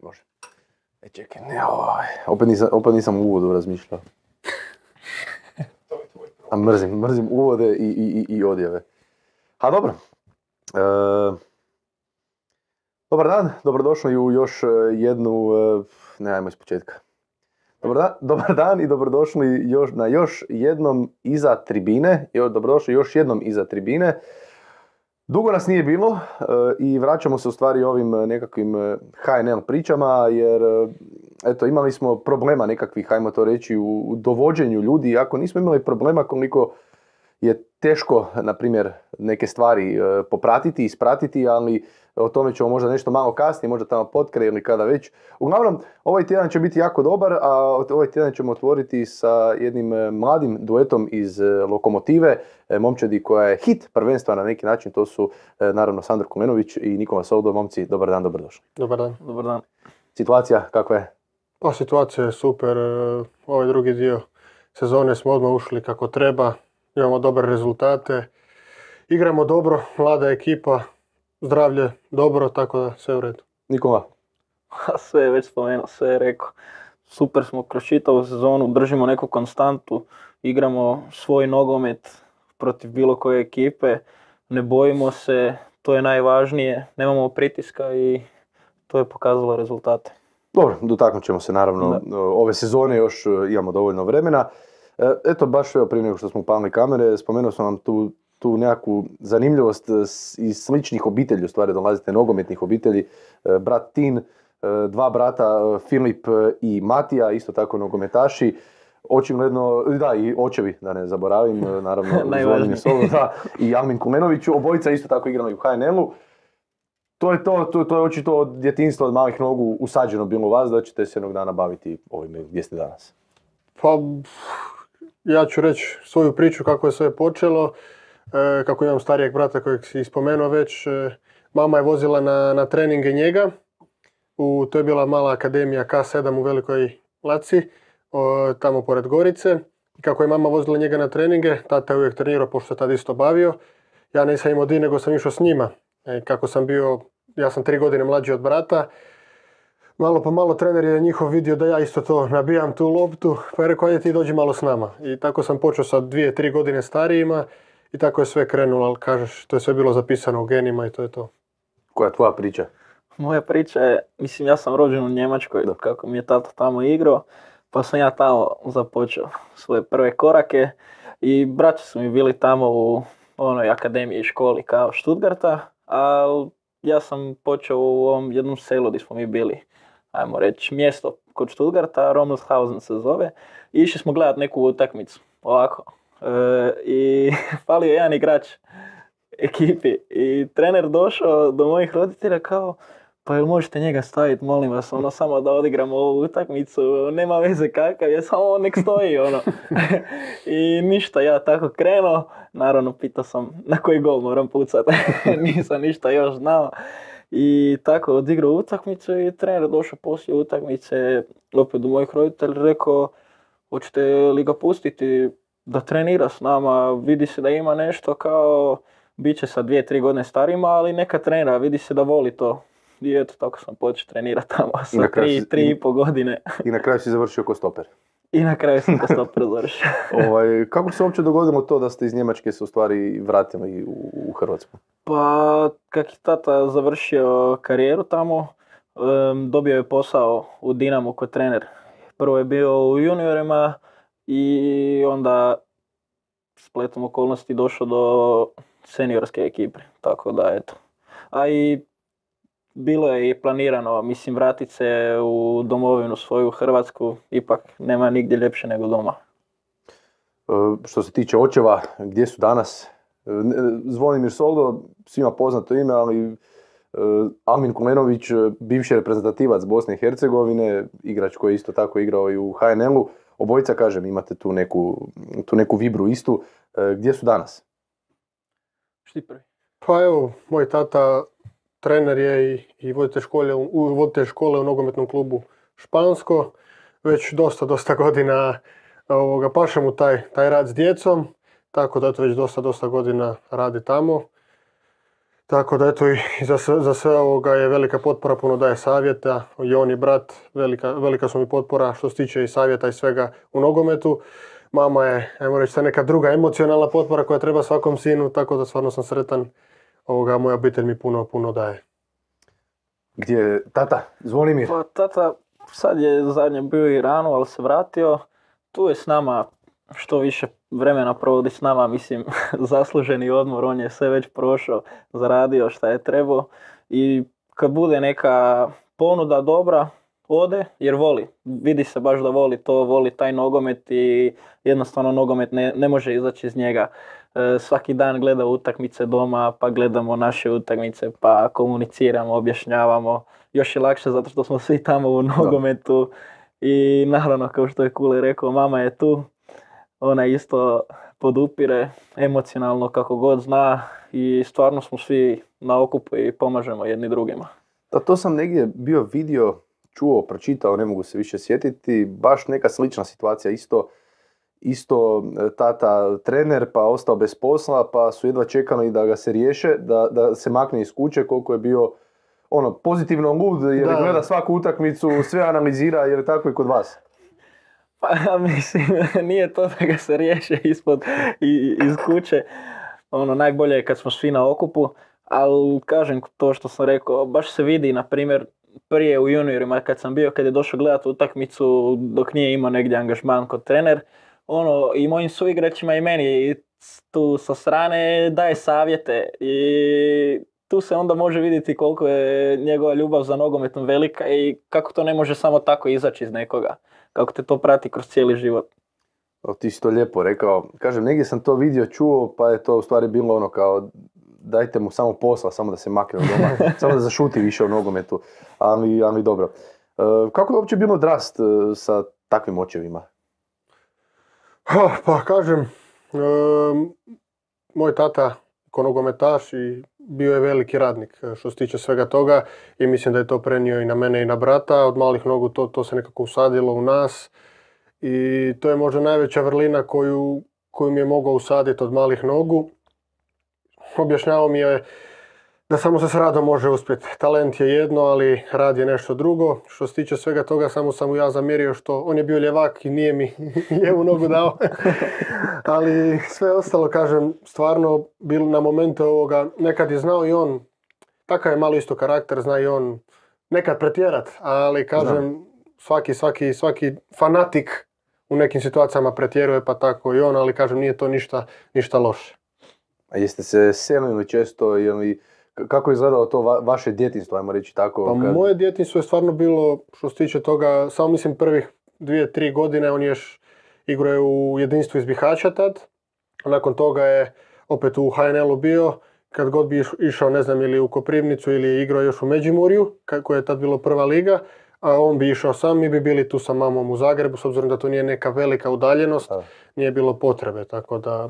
Može. Čekaj, ne, opet nisam u uvodu razmišljao. A mrzim uvode i odjave. A dobro. Dobar dan, dobrodošli u još jednu... Ne, ajmo iz početka. Dobar dan i dobrodošli na još jednom iza tribine. Dobrodošli još jednom iza tribine. Dugo nas nije bilo i vraćamo se u stvari ovim nekakvim HNL pričama, jer eto, imali smo problema nekakvih, hajmo to reći, u dovođenju ljudi, iako nismo imali problema koliko je teško, na primjer, neke stvari popratiti, ispratiti, ali o tome ćemo možda nešto malo kasnije, možda tamo potkraj ili kada već. Uglavnom, ovaj tjedan će biti jako dobar, a ovaj tjedan ćemo otvoriti sa jednim mladim duetom iz Lokomotive, momčadi koja je hit prvenstva na neki način, to su naravno Sandro Kulenović i Nikola Soldo. Momci, dobar dan, dobrodošli. Dobar dan. Dobar dan. Situacija kakva je? Pa situacija je super, ovaj drugi dio sezone smo odmah ušli kako treba, imamo dobre rezultate, igramo dobro, mlada ekipa, zdravlje dobro, tako da sve u redu. Nikola? Sve je već spomenuo, sve je rekao. Super smo kroz čitavu sezonu, držimo neku konstantu, igramo svoj nogomet protiv bilo koje ekipe, ne bojimo se, to je najvažnije, nemamo pritiska i to je pokazalo rezultate. Dobro, dotaknut ćemo se naravno ove sezone, još imamo dovoljno vremena. Eto, baš prije nego što smo upalili kamere, spomenuo sam vam tu nekakvu zanimljivost iz sličnih obitelji, u stvari dolazite nogometnih obitelji, brat Tin, dva brata Filip i Matija, isto tako nogometaši, očigledno, da, i očevi, da ne zaboravim, naravno, Najvažniji. I Almin Kulenović, obojica isto tako igrali u HNL-u. To je očito od djetinjstva, od malih nogu usađeno bilo u vas, da ćete se jednog dana baviti ovime gdje ste danas. Pa, ja ću reći svoju priču kako je sve počelo, kako imam starijeg brata kojeg si spomenuo već. Mama je vozila na treninge njega, to je bila mala akademija K7 u Velikoj Laci, tamo pored Gorice. I kako je mama vozila njega na treninge, tata je uvijek trenirao, pošto se tad isto bavio. Ja nisam imao di, nego sam išao s njima. Kako sam bio, ja sam 3 godine mlađi od brata, malo po malo trener je njihov vidio da ja isto to nabijam tu loptu, pa je rekao, ajde ti dođi malo s nama. I tako sam počeo sa 2-3 godine starijima i tako je sve krenulo, ali kažeš, to je sve bilo zapisano u genima i to je to. Koja je tvoja priča? Moja priča je, mislim, ja sam rođen u Njemačkoj, kako mi je tata tamo igrao, pa sam ja tamo započeo svoje prve korake i braća su mi bili tamo u onoj akademiji i školi kao Stuttgarta, a ja sam počeo u ovom jednom selu gdje smo mi bili, ajmo reći, mjesto kod Stuttgarta, Romelshausen se zove, i išli smo gledati neku utakmicu, ovako. I falio jedan igrač ekipi i trener došao do mojih roditelja kao, pa jel možete njega staviti, molim vas, samo da odigramo ovu utakmicu, nema veze kakav je, samo on nek stoji, I ništa, ja tako krenuo, naravno pitao sam na koji gol moram pucati, nisam ništa još znao. I tako odigrao utakmicu i trener došao poslije utakmice opet do mojih roditelja, rekao, hoćete li ga pustiti da trenira s nama, vidi se da ima nešto kao, bit će sa 2-3 godine starima, ali neka trenira, vidi se da voli to. I eto, tako sam počeo trenirati tamo sa 3,5 godine. I na kraju si završio ko stoper. I na kraju sam ko stoper završio. Kako se uopće dogodilo to da ste iz Njemačke se u stvari vratili u Hrvatsku? Pa, kak je tata završio karijeru tamo, dobio je posao u Dinamu kao trener. Prvo je bio u juniorima i onda spletom okolnosti došao do seniorske ekipe, tako da eto. A i bilo je i planirano, mislim, vratiti se u domovinu svoju Hrvatsku, ipak nema nigdje ljepše nego doma. Što se tiče očeva, gdje su danas? Zvonimir Soldo, svima poznato ime, ali Almin Kulenović, bivši reprezentativac Bosne i Hercegovine, igrač koji je isto tako igrao i u HNL-u. Obojica, kažem, imate tu neku vibru istu. Gdje su danas? Šti prvi? Pa evo, moj tata trener je i voditelj škole u nogometnom klubu Špansko. Već dosta godina paše mu taj rad s djecom, tako da već dosta godina radi tamo. Tako da eto i za sve ovoga je velika potpora, puno daje savjeta. I on i brat, velika su mi potpora što se tiče i savjeta i svega u nogometu. Mama je, ajmo reći, neka druga emocionalna potpora koja treba svakom sinu, tako da stvarno sam sretan. Moja obitelj mi puno daje. Gdje je tata? Zvonimir. Pa tata sad je zadnje bio u Iranu, ali se vratio. Tu je s nama, što više vremena provodi s nama, mislim, zasluženi odmor, on je sve već prošao, zaradio šta je trebao. I kad bude neka ponuda dobra, ode jer voli. Vidi se baš da voli to, voli taj nogomet i jednostavno nogomet ne može izaći iz njega. Svaki dan gleda utakmice doma, pa gledamo naše utakmice, pa komuniciramo, objašnjavamo. Još je lakše zato što smo svi tamo u nogometu. I naravno, kao što je Kule rekao, mama je tu. Ona isto podupire emocionalno kako god zna i stvarno smo svi na okupu i pomažemo jedni drugima. Da, to sam negdje bio vidio, čuo, pročitao, ne mogu se više sjetiti, baš neka slična situacija, isto tata trener pa ostao bez posla pa su jedva čekali da ga se riješe, da se makne iz kuće, koliko je bio pozitivno lud jer gleda svaku utakmicu, sve analizira, jer je tako i kod vas. Pa mislim, nije to da ga se riješe iz kuće. Najbolje je kad smo svi na okupu, ali kažem to što sam rekao, baš se vidi, na primjer, prije u juniorima kad je došao gledati utakmicu dok nije imao negdje angažman kod trener, i mojim suigračima i meni tu sa strane daje savjete i tu se onda može vidjeti koliko je njegova ljubav za nogometom velika i kako to ne može samo tako izaći iz nekoga, kako te to prati kroz cijeli život. Ti si to lijepo rekao. Kažem, negdje sam to vidio, čuo, pa je to u stvari bilo kao dajte mu samo posla, samo da se makne od doma, samo da zašuti više u nogometu, ali dobro. Kako je uopće bilo odrast sa takvim očevima? Pa kažem, moj tata ko nogometaš i bio je veliki radnik što se tiče svega toga i mislim da je to prenio i na mene i na brata. Od malih nogu to se nekako usadilo u nas i to je možda najveća vrlina koju mi je mogao usaditi od malih nogu. Objašnjavao mi je da samo se s radom može uspjeti. Talent je jedno, ali rad je nešto drugo. Što se tiče svega toga, samo sam mu ja zamjerio što on je bio ljevak i nije mi lijevu nogu dao. Ali sve ostalo, kažem, stvarno bilo na momente ovoga, nekad je znao i on, takav je malo isto karakter, zna i on nekad pretjerat, ali kažem, svaki fanatik u nekim situacijama pretjeruje, pa tako i on, ali kažem, nije to ništa loše. A jeste se selili često ili kako je izgledalo to vaše djetinjstvo, ajmo reći tako? Pa moje djetinjstvo je stvarno bilo, što se tiče toga, samo mislim prvih 2-3 godine, on je igrao u jedinstvu iz Bihaća tad. Nakon toga je opet u HNL-u bio, kad god bi išao, ne znam, ili u Koprivnicu ili je igrao još u Međimurju, koja je tad bilo prva liga, a on bi išao sam, mi bi bili tu sa mamom u Zagrebu, s obzirom da to nije neka velika udaljenost, nije bilo potrebe, tako da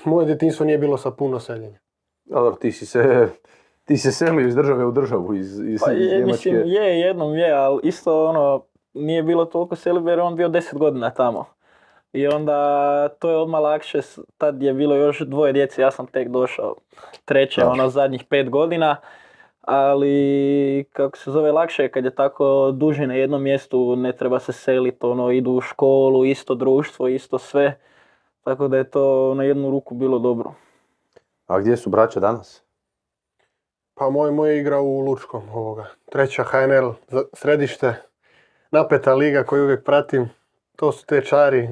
moje djetinjstvo nije bilo sa puno seljenja. Ali ti se selio iz države u državu, iz Njemačke. Mislim, jednom je, ali isto nije bilo toliko seljenja jer on bio 10 godina tamo. I onda to je odmah lakše, tad je bilo još 2 djece, ja sam tek došao treće, zadnjih 5 godina. Ali, kako se zove, lakše je kad je tako duže na jednom mjestu, ne treba se seliti, idu u školu, isto društvo, isto sve. Tako da je to na jednu ruku bilo dobro. A gdje su braća danas? Pa moj igra u Lučkom, treća HNL, središte, napeta liga koju uvijek pratim. To su te čari,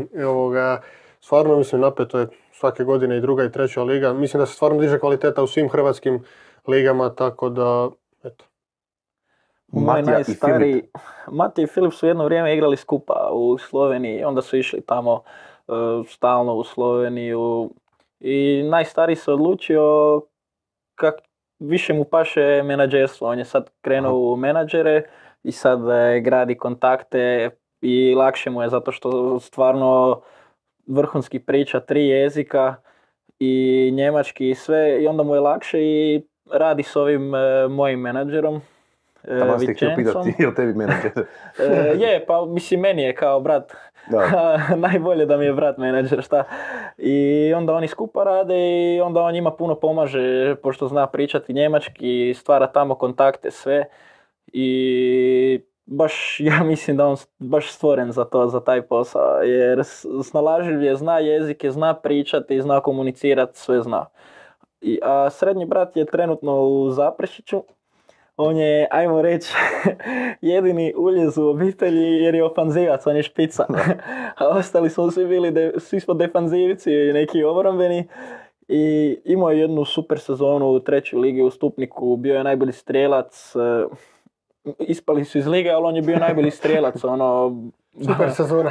stvarno mislim napeto je svake godine i druga i treća liga. Mislim da se stvarno diže kvaliteta u svim hrvatskim ligama, tako da, eto. Matija i Filip su jedno vrijeme igrali skupa u Sloveniji, onda su išli tamo stalno u Sloveniju i najstariji se odlučio kak više mu paše menadžerstvo. On je sad krenuo u menadžere i sad gradi kontakte i lakše mu je zato što stvarno vrhunski priča 3 jezika i njemački i sve i onda mu je lakše i radi s ovim mojim menadžerom Tamo ste htio pitati, je li tebi menadžer? Je, pa mislim meni je kao brat. Da. Najbolje da mi je brat menadžer, šta. I onda oni skupa rade i onda on njima puno pomaže, pošto zna pričati njemački, stvara tamo kontakte, sve. I baš, ja mislim da on baš stvoren za to, za taj posao, jer snalažljiv je, zna jezike, zna pričati, zna komunicirati, sve zna. A srednji brat je trenutno u Zaprešiću. On je, ajmo reći, jedini uljez u obitelji jer je ofanzivac, on je špica. A ostali smo svi smo defanzivci, neki obrambeni. I imao je jednu super sezonu u 3. ligi u Stupniku, bio je najbolji strijelac. Ispali su iz lige, ali on je bio najbolji strijelac, Super sezona.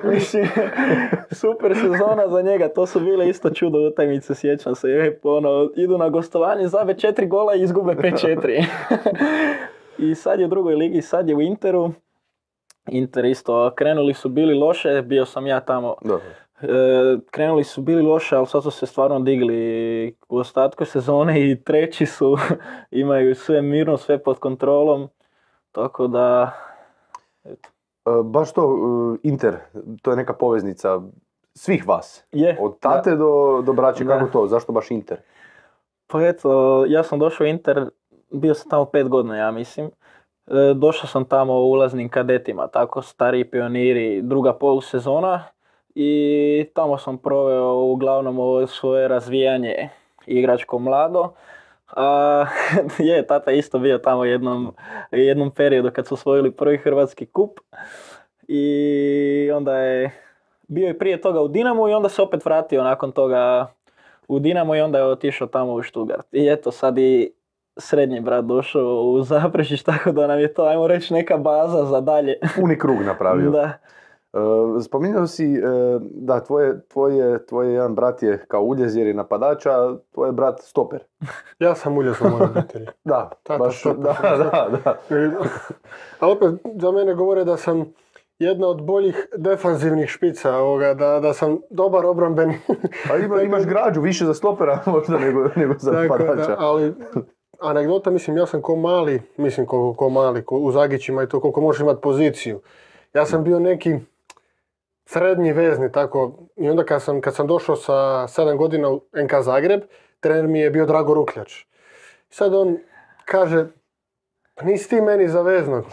Mislim, super sezona za njega, to su bile isto čudo utakmice, sjećam se. Idu na gostovanje, zabe 4 gola i izgube 5-4. I sad je u 2. ligi, sad je u Interu. Inter isto, krenuli su bili loše, bio sam ja tamo. Krenuli su bili loše, ali sad su se stvarno digli u ostatku sezone i 3. su, imaju sve mirno, sve pod kontrolom. Tako da, eto. Baš to, Inter, to je neka poveznica svih vas. Od tate do braće, kako to? Zašto baš Inter? Pa eto, ja sam došao u Inter, bio sam tamo 5 godina, ja mislim. Došao sam tamo u ulaznim kadetima, tako stariji pioniri, druga polusezona. I tamo sam proveo uglavnom ovo svoje razvijanje igračko mlado. Tata isto bio tamo jednom periodu kad su osvojili prvi hrvatski kup. I onda je bio i prije toga u Dinamu i onda se opet vratio nakon toga u Dinamo i onda je otišao tamo u Stuttgart. I eto sad i srednji brat došao u Zaprešić, tako da nam je to, ajmo reći, neka baza za dalje. Puni krug napravio. Da. Spominjao si da tvoj jedan brat je kao uljez jer je napadač, a tvoj brat stoper. Ja sam uljez u mojoj obitelji. Da, baš, da. Ali opet za mene govore da sam jedna od boljih defanzivnih špica, da sam dobar obrambeni. A imaš građu više za stopera možda nego za napadača. Ali anegdota, mislim, ja sam ko mali, u Zagićima i to koliko možeš imati poziciju. Ja sam bio neki srednji vezni, tako, i onda kad sam došao sa 7 godina u NK Zagreb, trener mi je bio Drago Rukljač. I sad on kaže, pa nisi ti meni za veznog,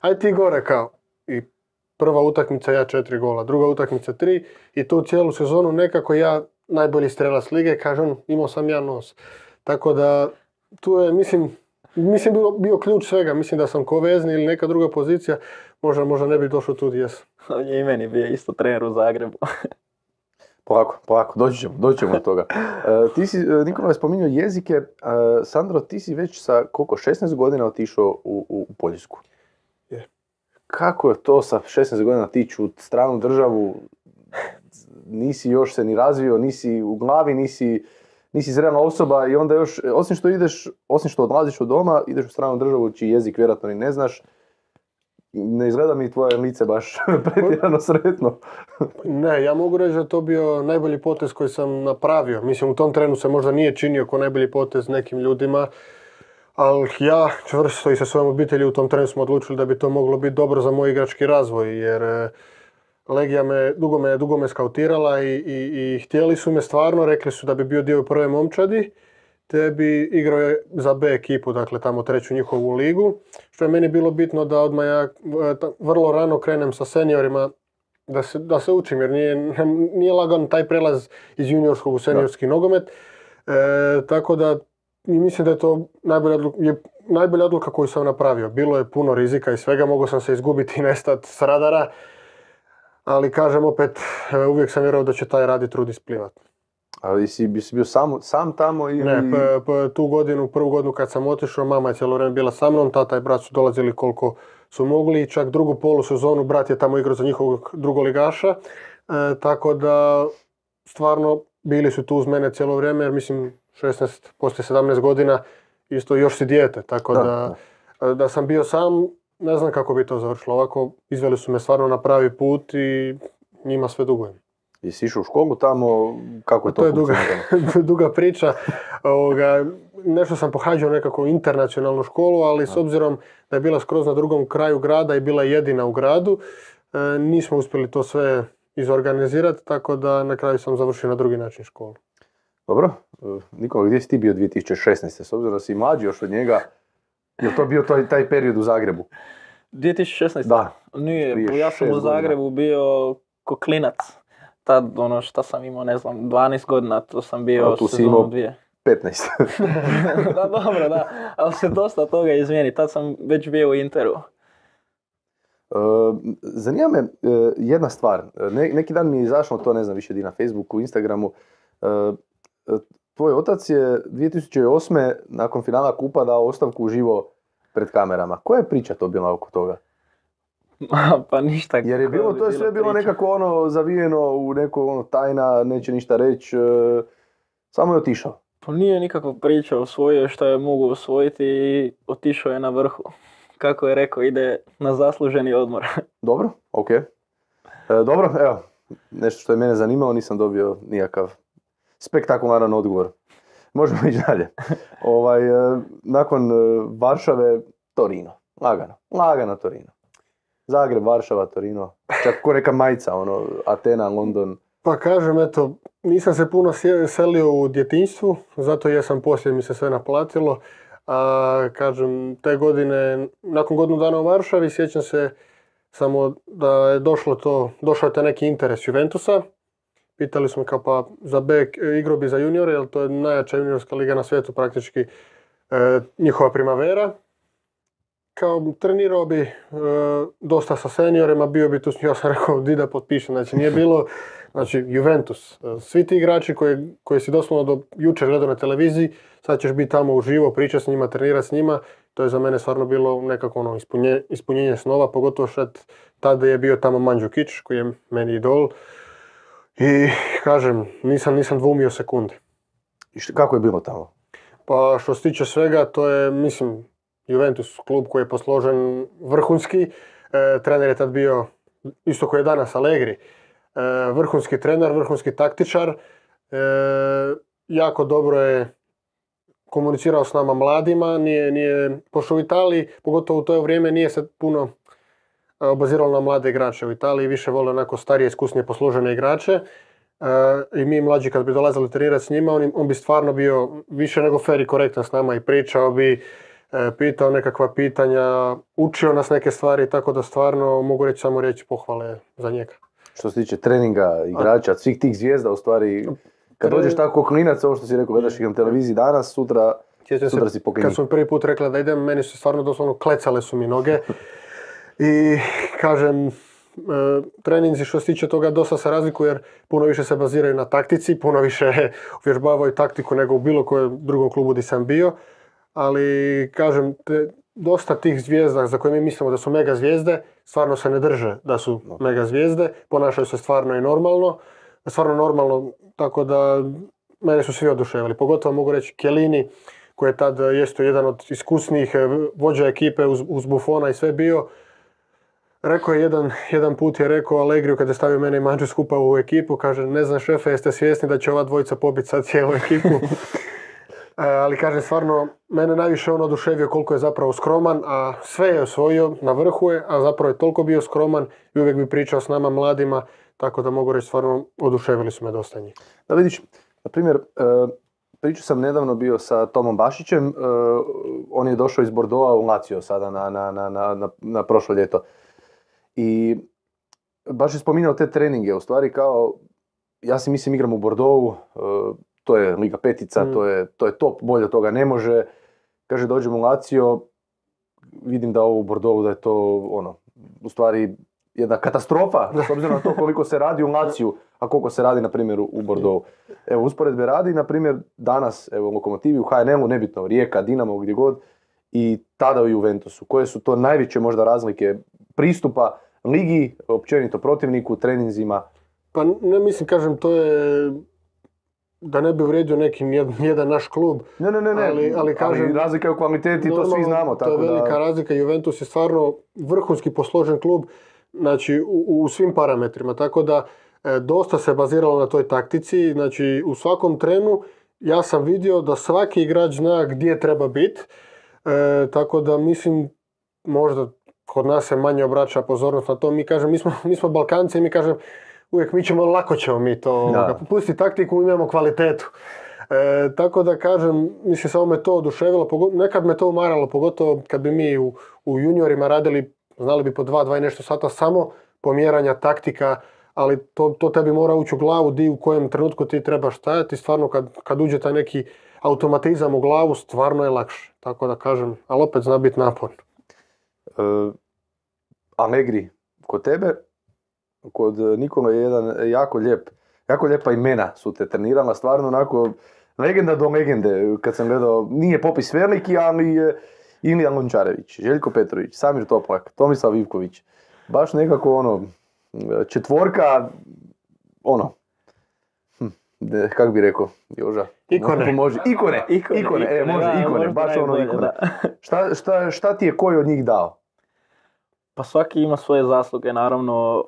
aj ti gore kao. I prva utakmica ja 4 gola, druga utakmica 3 i tu cijelu sezonu nekako ja najbolji strelac lige, kaže on, imao sam ja nos. Tako da tu je, mislim bio ključ svega, mislim da sam ko vezni ili neka druga pozicija, možda ne bi došao tu gdje jesam. On je i meni bio isto trener u Zagrebu. Polako, doći ćemo do toga. Ti si, Nikola je spominjao jezike. Sandro, ti si već sa 16 godina otišao u Poljsku. Je. Kako je to sa 16 godina otići u stranu državu, nisi još se ni razvio, nisi u glavi, nisi zrela osoba i onda još, osim što odlaziš od doma, ideš u stranu državu čiji jezik vjerojatno ni ne znaš, ne izgleda mi tvoje lice baš pretjerano sretno. Ne, ja mogu reći da je to bio najbolji potez koji sam napravio. Mislim, u tom trenu se možda nije činio kao najbolji potez nekim ljudima, ali ja čvrsto i sa svojom obitelji u tom trenu smo odlučili da bi to moglo biti dobro za moj igrački razvoj, jer Legija me dugo me skautirala i htjeli su me stvarno, rekli su da bi bio dio prve momčadi, te bi igrao za B ekipu, dakle tamo 3. njihovu ligu, što je meni bilo bitno da odmah ja vrlo rano krenem sa seniorima, da se učim, jer nije lagan taj prelaz iz juniorskog u seniorski nogomet, tako da mislim da je to najbolja odluka koju sam napravio. Bilo je puno rizika i svega, mogao sam se izgubiti i nestati s radara, ali kažem opet, uvijek sam vjerovao da će taj radi trud isplivati. Ali si bio sam tamo ili... Ne, prvu godinu kad sam otišao, mama je cijelo vrijeme bila sa mnom, tata i brat su dolazili koliko su mogli, čak drugu polusezonu brat je tamo igrao za njihovog drugoligaša, tako da stvarno bili su tu uz mene cijelo vrijeme, jer mislim 16, poslije 17 godina isto još si dijete, tako da sam bio sam, ne znam kako bi to završilo. Ovako izveli su me stvarno na pravi put i njima sve dugujem. Jesi išao u školu tamo, kako je to To je duga, funkcioniralo? duga priča. Nešto sam pohađao nekako internacionalnu školu, ali s obzirom da je bila skroz na drugom kraju grada i bila jedina u gradu, nismo uspjeli to sve izorganizirati, tako da na kraju sam završio na drugi način školu. Dobro, Nikola, gdje si ti bio 2016. S obzirom da si mlađi još od njega, je to bio taj period u Zagrebu? 2016. Da. Nije, Prije ja sam 6 u godina. Zagrebu bio ko klinac. Tad šta sam imao, ne znam, 12 godina, to sam bio Tu si sezonu imao 2. 15. Da, dobro, da, ali se dosta toga izmijeni, tad sam već bio u Interu. Zanima me jedna stvar. Neki dan mi je izašlo to, ne znam, više di na Facebooku, Instagramu. Tvoj otac je 2008. nakon finala kupa dao ostavku uživo pred kamerama. Koja je priča to bila oko toga? Pa ništa. Jer je koja bilo, bi to je bila sve bilo priča. nekako ono zavijeno u neko ono tajna, neće ništa reći. Samo je otišao. Pa nije nikakva priča, osvojio je što je mogu osvojiti i otišao je na vrhu. Kako je rekao, ide na zasluženi odmor. Dobro, ok. Dobro, evo, nešto što je mene zanimalo, nisam dobio nikakav spektakularan odgovor. Možemo ići dalje. Nakon Varšave, Torino. Lagano Torino. Zagreb, Varšava, Torino. Čak ko neka majica, ono, Atena, London. Pa kažem, eto, nisam se puno selio u djetinjstvu, zato jesam poslije mi se sve naplatilo. A kažem, te godine, nakon godinu dana u Varšavi, sjećam se samo da je došao je taj neki interes Juventusa. Pitali smo kao pa za B igrao bi za juniore, jer to je najjača juniorska liga na svijetu praktički, njihova primavera. Kao trenirao bi dosta sa seniorima, bio bi tu, ja sam rekao di da potpišem, znači nije bilo, znači Juventus, svi ti igrači koji si doslovno do jučer gledao na televiziji, sad ćeš biti tamo uživo, pričati s njima, trenirati s njima, to je za mene stvarno bilo nekako ono ispunjenje snova, pogotovo što tada je bio tamo Mandžukić koji je meni idol i kažem, nisam dvumio sekunde. I kako je bilo tamo? Pa što se tiče svega, to je, mislim, Juventus, klub koji je posložen vrhunski. Trener je tad bio, isto koji je danas, Allegri. Vrhunski trener, vrhunski taktičar. Jako dobro je komunicirao s nama mladima. Pošto u Italiji, pogotovo u to vrijeme, nije se puno obaziralo na mlade igrače. U Italiji više vole onako starije, iskusnije posložene igrače. I mi mlađi kad bi dolazili trenirati s njima, on bi stvarno bio više nego fer i korektan s nama i pričao bi, pitao nekakva pitanja, učio nas neke stvari, tako da stvarno mogu reći samo riječi pohvale za njega. Što se tiče treninga, igrača, svih tih zvijezda, u stvari, kad dođeš tako klinac, ovo što si rekao, gledaš ih na televiziji danas, sutra si pokrenut. Kad sam prvi put rekla da idem, meni su stvarno doslovno klecale su mi noge. I kažem, treninzi što se tiče toga dosta se razlikuju jer puno više se baziraju na taktici, puno više uvježbavaju taktiku nego u bilo kojem drugom klubu gdje sam bio. Ali kažem, dosta tih zvijezda za koje mi mislimo da su mega zvijezde, stvarno se ne drže da su mega zvijezde, ponašaju se stvarno i normalno, tako da mene su svi oduševili. Pogotovo mogu reći Chiellini, koji je tad jesto jedan od iskusnijih vođa ekipe uz Buffona i sve bio. Rekao je jedan put je rekao Allegriju kad je stavio mene i Mandžu skupa u ekipu, kaže, ne znam šefe, jeste svjesni da će ova dvojica pobiti sad cijelu ekipu. Ali kažem, stvarno, mene najviše on oduševio koliko je zapravo skroman, a sve je osvojio, na vrhu je, a zapravo je toliko bio skroman i uvijek bi pričao s nama mladima, tako da mogu reći stvarno oduševili su me dosta njih. Da vidiš, na primjer, pričao sam nedavno bio sa Tomom Bašićem, on je došao iz Bordeauxa u Lazio sada na prošlo ljeto. I baš je spominjao te treninge, u stvari kao, ja si mislim igram u Bordeauxu, to je Liga petica, to je top, bolje od toga ne može. Kaže, dođem u Lazio, vidim da ovo u Bordeauxu, da je to ono, u stvari jedna katastrofa, s obzirom na to koliko se radi u Laziju, a koliko se radi, na primjer, u Bordeauxu. Evo, usporedbe radi, na primjer, danas, evo, u Lokomotivi, u HNL-u, nebitno, Rijeka, Dinamo, gdje god, i tada u Juventusu. Koje su to najveće možda razlike pristupa ligi, općenito protivniku, treninzima? Pa ne mislim, kažem, to je da ne bi uvrijedio neki jedan naš klub. Ne. Ali kažem, razlika je u kvaliteti, to svi znamo. To je velika razlika. Juventus je stvarno vrhunski posložen klub, znači u svim parametrima. Tako da dosta se baziralo na toj taktici, znači u svakom trenu ja sam vidio da svaki igrač zna gdje treba biti, tako da mislim možda kod nas se manje obraća pozornost na to. Mi smo Balkanci i mi kažem uvijek lako ćemo mi to, pusti taktiku, imamo kvalitetu. Tako da kažem, mislim samo me to oduševilo, nekad me to umaralo, pogotovo kad bi mi u juniorima radili, znali bi po 2 i nešto sata samo pomjeranja taktika, ali to tebi mora ući u glavu di u kojem trenutku ti trebaš stajati. Stvarno kad uđe taj neki automatizam u glavu, stvarno je lakše. Tako da kažem, ali opet zna biti naporno. Allegri, kod tebe, kod Nikola je jedan jako lijepa imena su te trenirala, stvarno onako legenda do legende. Kad sam gledao, nije popis veliki, ali Ilija Lončarević, Željko Petrović, Samir Toplak, Tomislav Ivković. Baš nekako četvorka, kako bi rekao, Joža? Ikone. Ikone, baš ikone. Šta ti je koji od njih dao? Pa svaki ima svoje zasluge, naravno.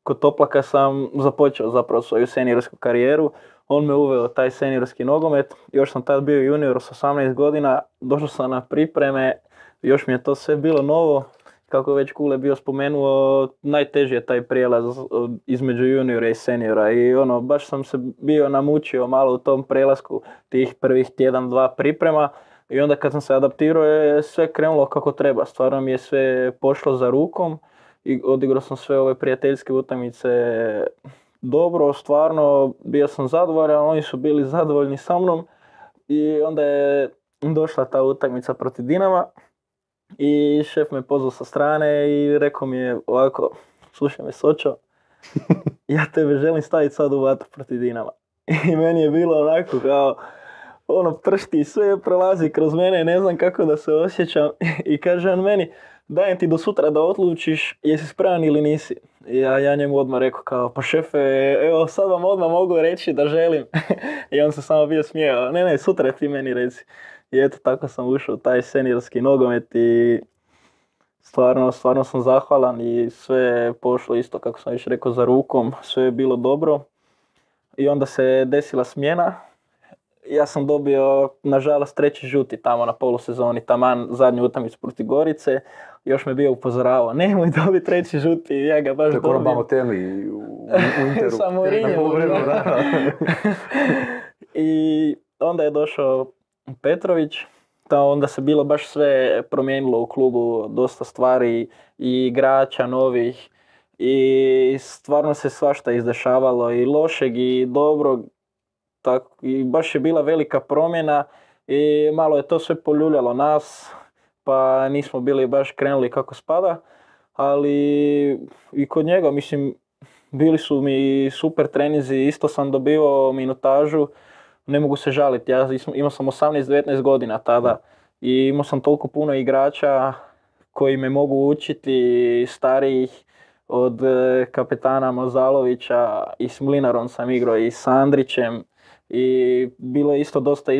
Kod Toplaka sam započeo zapravo svoju seniorsku karijeru. On me uveo taj seniorski nogomet. Još sam tad bio junior s 18 godina. Došao sam na pripreme. Još mi je to sve bilo novo. Kako je već Kule bio spomenuo, najteži je taj prijelaz između juniora i seniora. I baš sam se bio namučio malo u tom prelasku tih prvih tjedan, 2 priprema. I onda kad sam se adaptirao je sve krenulo kako treba. Stvarno mi je sve pošlo za rukom. I odigrao sam sve ove prijateljske utakmice dobro, stvarno bio sam zadovoljan, oni su bili zadovoljni sa mnom i onda je došla ta utakmica protiv Dinama i šef me pozvao sa strane i rekao mi je ovako, slušaj me Sočo, ja tebe želim staviti sad u vatru protiv Dinama. I meni je bilo onako kao, pršti, sve prolazi kroz mene, ne znam kako da se osjećam i kaže on meni, dajem ti do sutra da odlučiš jesi spreman ili nisi. Ja njemu odmah rekao kao, pa šefe, evo sad vam odmah mogu reći da želim. I on se samo bio smijao, ne, sutra ti meni reci. I eto, tako sam ušao u taj seniorski nogomet i stvarno sam zahvalan i sve je pošlo isto kako sam već rekao za rukom, sve je bilo dobro. I onda se desila smjena. Ja sam dobio, nažalost, 3. žuti tamo na polusezoni, taman zadnju utakmicu protiv Gorice. Još me bio upozoravao, nemoj dobiti 3. žuti, ja ga baš dobijem. To je Balotelli u Interu. Sa Mourinhom, da. I onda je došao Petrović, onda se bilo baš sve promijenilo u klubu, dosta stvari i igrača novih. I stvarno se svašta izdešavalo, i lošeg i dobrog. Tako, i baš je bila velika promjena i malo je to sve poljuljalo nas, pa nismo bili baš krenuli kako spada, ali i kod njega, mislim, bili su mi super treninzi, isto sam dobivao minutažu, ne mogu se žaliti, ja imao sam 18-19 godina tada i imao sam toliko puno igrača koji me mogu učiti, starijih, od kapetana Mozalovića, i s Mlinarom sam igrao, i s Andrićem. I bilo je isto dosta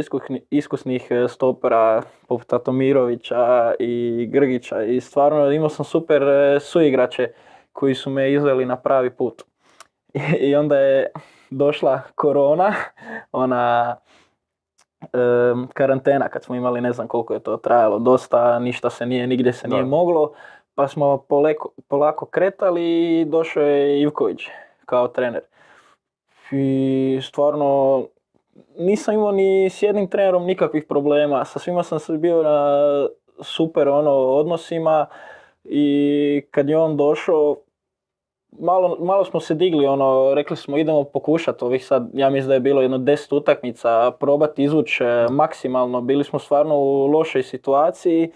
iskusnih stopera poput Tatomirovića i Grgića i stvarno imao sam super suigrače koji su me izveli na pravi put. I onda je došla korona, ona karantena kad smo imali, ne znam koliko je to trajalo, dosta, ništa se nije, nigdje se nije moglo, pa smo polako kretali i došao je Ivković kao trener. I stvarno nisam imao ni s jednim trenerom nikakvih problema, sa svima sam se bio na super odnosima i kad je on došao, malo smo se digli, rekli smo idemo pokušati ovih sad, ja mislim da je bilo jedno 10 utakmica, probati izvući maksimalno, bili smo stvarno u lošoj situaciji,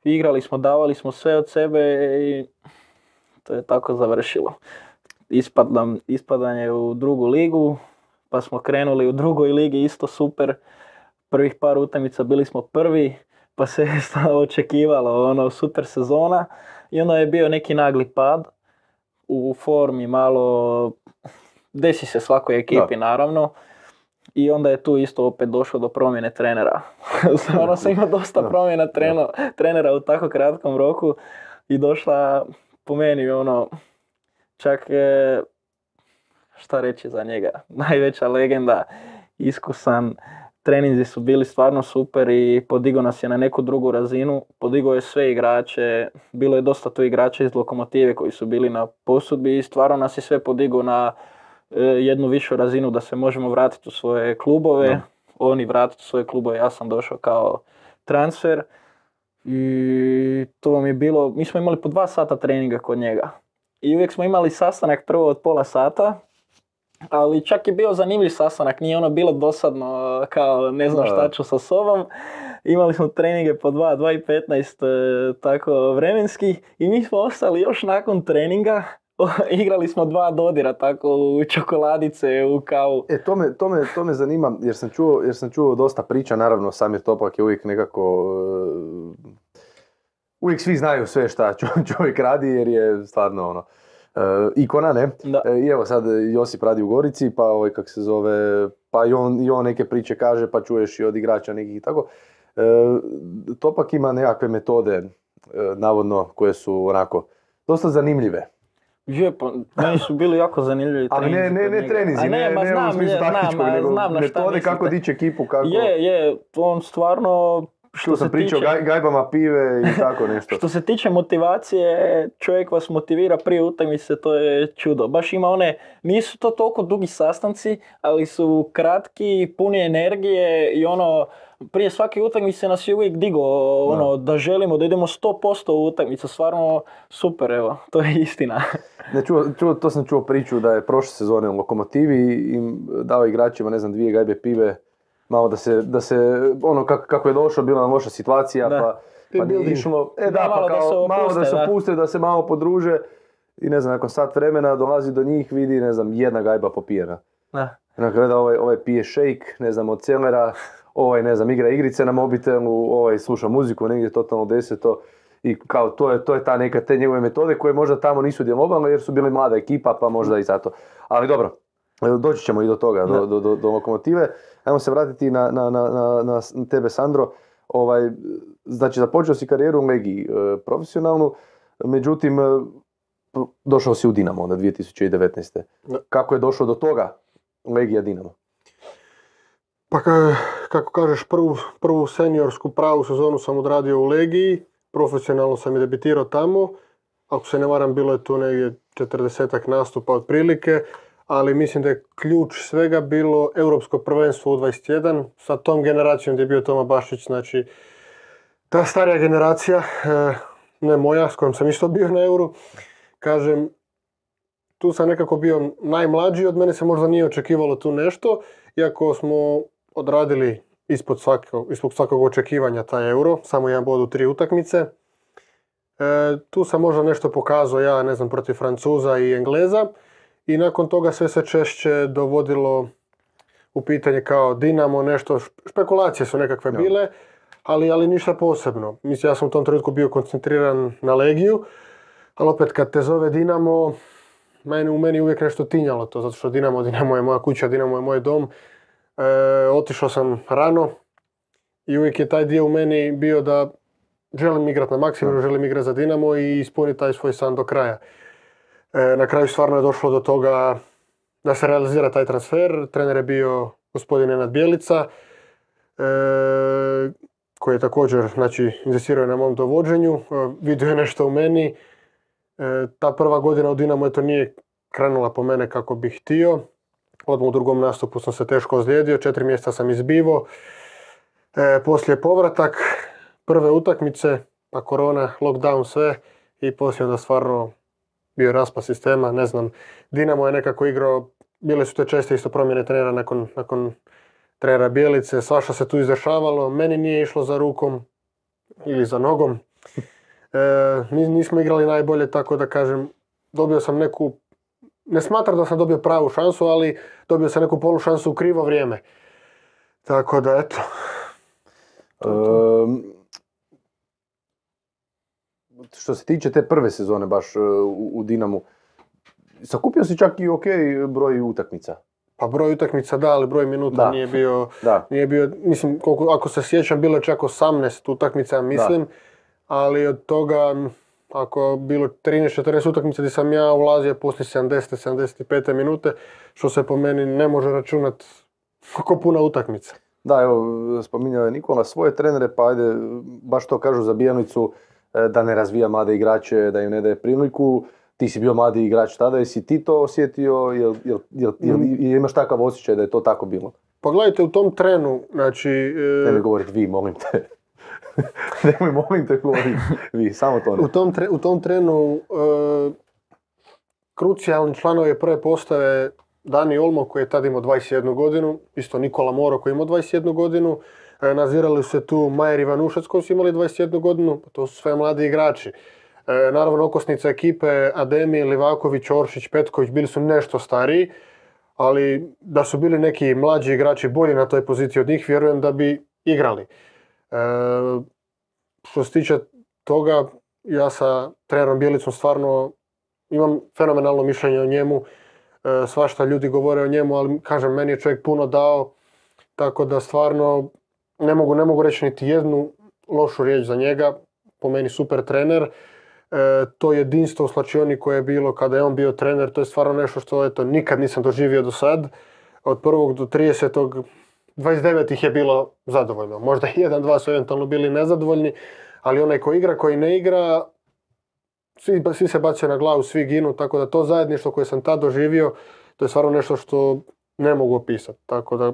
igrali smo, davali smo sve od sebe i to je tako završilo. Ispadanje u drugu ligu, pa smo krenuli u drugoj ligi isto super. Prvih par utakmica bili smo prvi, pa se je očekivalo super sezona i onda je bio neki nagli pad u formi, malo desi se svakoj ekipi naravno. I onda je tu isto opet došlo do promjene trenera. Stvarno sam imao dosta promjena trenera u tako kratkom roku i došla po meni čak je, šta reći za njega, najveća legenda, iskusan, treninzi su bili stvarno super i podigao nas je na neku drugu razinu, podigao je sve igrače, bilo je dosta tu igrača iz Lokomotive koji su bili na posudbi i stvarno nas je sve podigao na jednu višu razinu da se možemo vratiti u svoje klubove, Da. oni vratiti u svoje klubove, ja sam došao kao transfer i to vam je bilo, mi smo imali po 2 sata treninga kod njega i uvijek smo imali sastanak prvo od pola sata, ali čak je bio zanimljiv sastanak, nije ono bilo dosadno kao ne znam Da. šta ću sa sobom. Imali smo treninge po 2:15 tako vremenskih i mi smo ostali još nakon treninga, igrali smo 2 dodira tako u čokoladice, u kavu. To me zanima jer sam čuo dosta priča, naravno Samir Topak je uvijek nekako, uvijek svi znaju sve šta čovjek radi jer je stvarno ono, ikona, ne? Da. I evo sad Josip radi u Gorici, pa kak se zove, pa i on neke priče kaže, pa čuješ i od igrača nekih i tako. Topak ima nekakve metode, navodno, koje su onako dosta zanimljive. Je, pa meni su bili jako zanimljivi Ali treninzi kod ne njega. treninzi, A ne znam, u smislu znam, taktičkog, a nego znam na šta metode kako mislite. dići ekipu, kako... Je, on stvarno, Što sam pričao, gajbama pive i tako nešto. što se tiče motivacije, čovjek vas motivira prije utakmice, to je čudo. Baš ima one, nisu to toliko dugi sastanci, ali su kratki, puni energije i ono, prije svake utakmice nas je uvijek digao, ono, da želimo da idemo 100% u utakmicu, stvarno super, evo, to je istina. Ne, to sam čuo priču da je prošle sezone u Lokomotivi im dao igračima, ne znam, 2 gajbe pive, malo da se ono kako je došao, bila nam loša situacija, Da. pa nije išlo. malo da se malo da se opuste, opuste, da se malo podruže i ne znam, nakon sat vremena dolazi do njih, vidi, ne znam, 1 gajba popijena. Da. Onako gleda, ovaj pije shake, ne znam, od celera, ne znam, igra igrice na mobitelu, sluša muziku, negdje totalno deseto. I kao to je ta neka te njegove metode koje možda tamo nisu djelovale jer su bili mlada ekipa pa možda i zato. Ali dobro, doći ćemo i do toga, do Lokomotive. Ajmo se vratiti na tebe, Sandro. Znači započeo si karijeru u Legiji profesionalnu, međutim došao si u Dinamo onda 2019. Kako je došlo do toga Legija Dinamo? Pa kako kažeš, prvu seniorsku pravu sezonu sam odradio u Legiji, profesionalno sam i debitirao tamo. Ako se ne varam, bilo je tu negdje 40-ak nastupa otprilike, ali mislim da je ključ svega bilo Europsko prvenstvo U21 sa tom generacijom gdje je bio Toma Bašić, znači ta starija generacija, ne moja, s kojom sam isto bio na Euru, kažem, tu sam nekako bio najmlađi, od mene se možda nije očekivalo tu nešto, iako smo odradili ispod svakog očekivanja taj Euro, samo 1 bod u 3 utakmice. Tu sam možda nešto pokazao, ja ne znam, protiv Francuza i Engleza i nakon toga sve se češće dovodilo u pitanje kao Dinamo, nešto, špekulacije su nekakve bile, ali ništa posebno. Mislim, ja sam u tom trenutku bio koncentriran na Legiju, ali opet kad te zove Dinamo, u meni uvijek nešto tinjalo to, zato što Dinamo je moja kuća, Dinamo je moj dom. Otišao sam rano i uvijek je taj dio u meni bio da želim igrati na maksimum, želim igrati za Dinamo i ispuniti taj svoj san do kraja. Na kraju stvarno je došlo do toga da se realizira taj transfer. Trener je bio gospodin Nenad Bjelica, koji je također, znači, inzistirao na mom dovođenju, vidio je nešto u meni. Ta prva godina u Dinamo eto nije krenula po mene kako bih htio. Odmah u drugom nastupu sam se teško ozlijedio, 4 mjeseca sam izbivao. Poslije povratak, prve utakmice, pa korona, lockdown, sve i poslije onda stvarno bio raspad sistema, ne znam. Dinamo je nekako igrao, bile su te česte isto promjene trenera nakon trenera Bjelice, svašta se tu izdešavalo, meni nije išlo za rukom ili za nogom. Nismo igrali najbolje, tako da kažem, dobio sam neku, ne smatram da sam dobio pravu šansu, ali dobio sam neku polu šansu u krivo vrijeme. Tako da, eto. Što se tiče te prve sezone baš u Dinamu, sakupio si čak i broj utakmica. Pa broj utakmica da, ali broj minuta nije bio, mislim, ako se sjećam, bilo je čak 18 utakmica, mislim, ali od toga ako je bilo 13-14 utakmica gdje sam ja ulazio poslije 70-75 minute, što se po meni ne može računati kako puna utakmica. Da, evo, spominjao je Nikola svoje trenere, pa ajde, baš to kažu za Bijanicu, da ne razvija mlade igrače, da im ne daje priliku. Ti si bio mladi igrač tada, jesi ti to osjetio, jel imaš takav osjećaj da je to tako bilo? Pa gledajte, u tom trenu, znači... Nemoj govoriti vi, molim te. Nemoj, molim te, govoriti vi, samo to ne. U tom trenu krucijalni članovi prve postave Dani Olmo koji je tada imao 21 godinu, isto Nikola Moro koji je imao 21 godinu, nazirali su se tu Majer Ivanušac koji su imali 21 godinu, to su sve mladi igrači. Naravno, okosnica ekipe Ademi, Livaković, Oršić, Petković bili su nešto stariji, ali da su bili neki mlađi igrači bolji na toj poziciji od njih, vjerujem da bi igrali. Što se tiče toga, ja sa trenerom Bjelicom stvarno imam fenomenalno mišljenje o njemu. Svašta ljudi govore o njemu, ali kažem, meni je čovjek puno dao, tako da stvarno ne mogu reći niti jednu lošu riječ za njega. Po meni super trener. To jedinstvo u slačioni koje je bilo kada je on bio trener, to je stvarno nešto što eto, nikad nisam doživio do sad. Od 1. do 30. 29 ih je bilo zadovoljno. Možda 1-2 su eventualno bili nezadovoljni, ali onaj ko igra, koji ne igra, svi se bacaju na glavu, svi ginu, tako da to zajedništvo koje sam tad doživio, to je stvarno nešto što ne mogu opisati. Tako da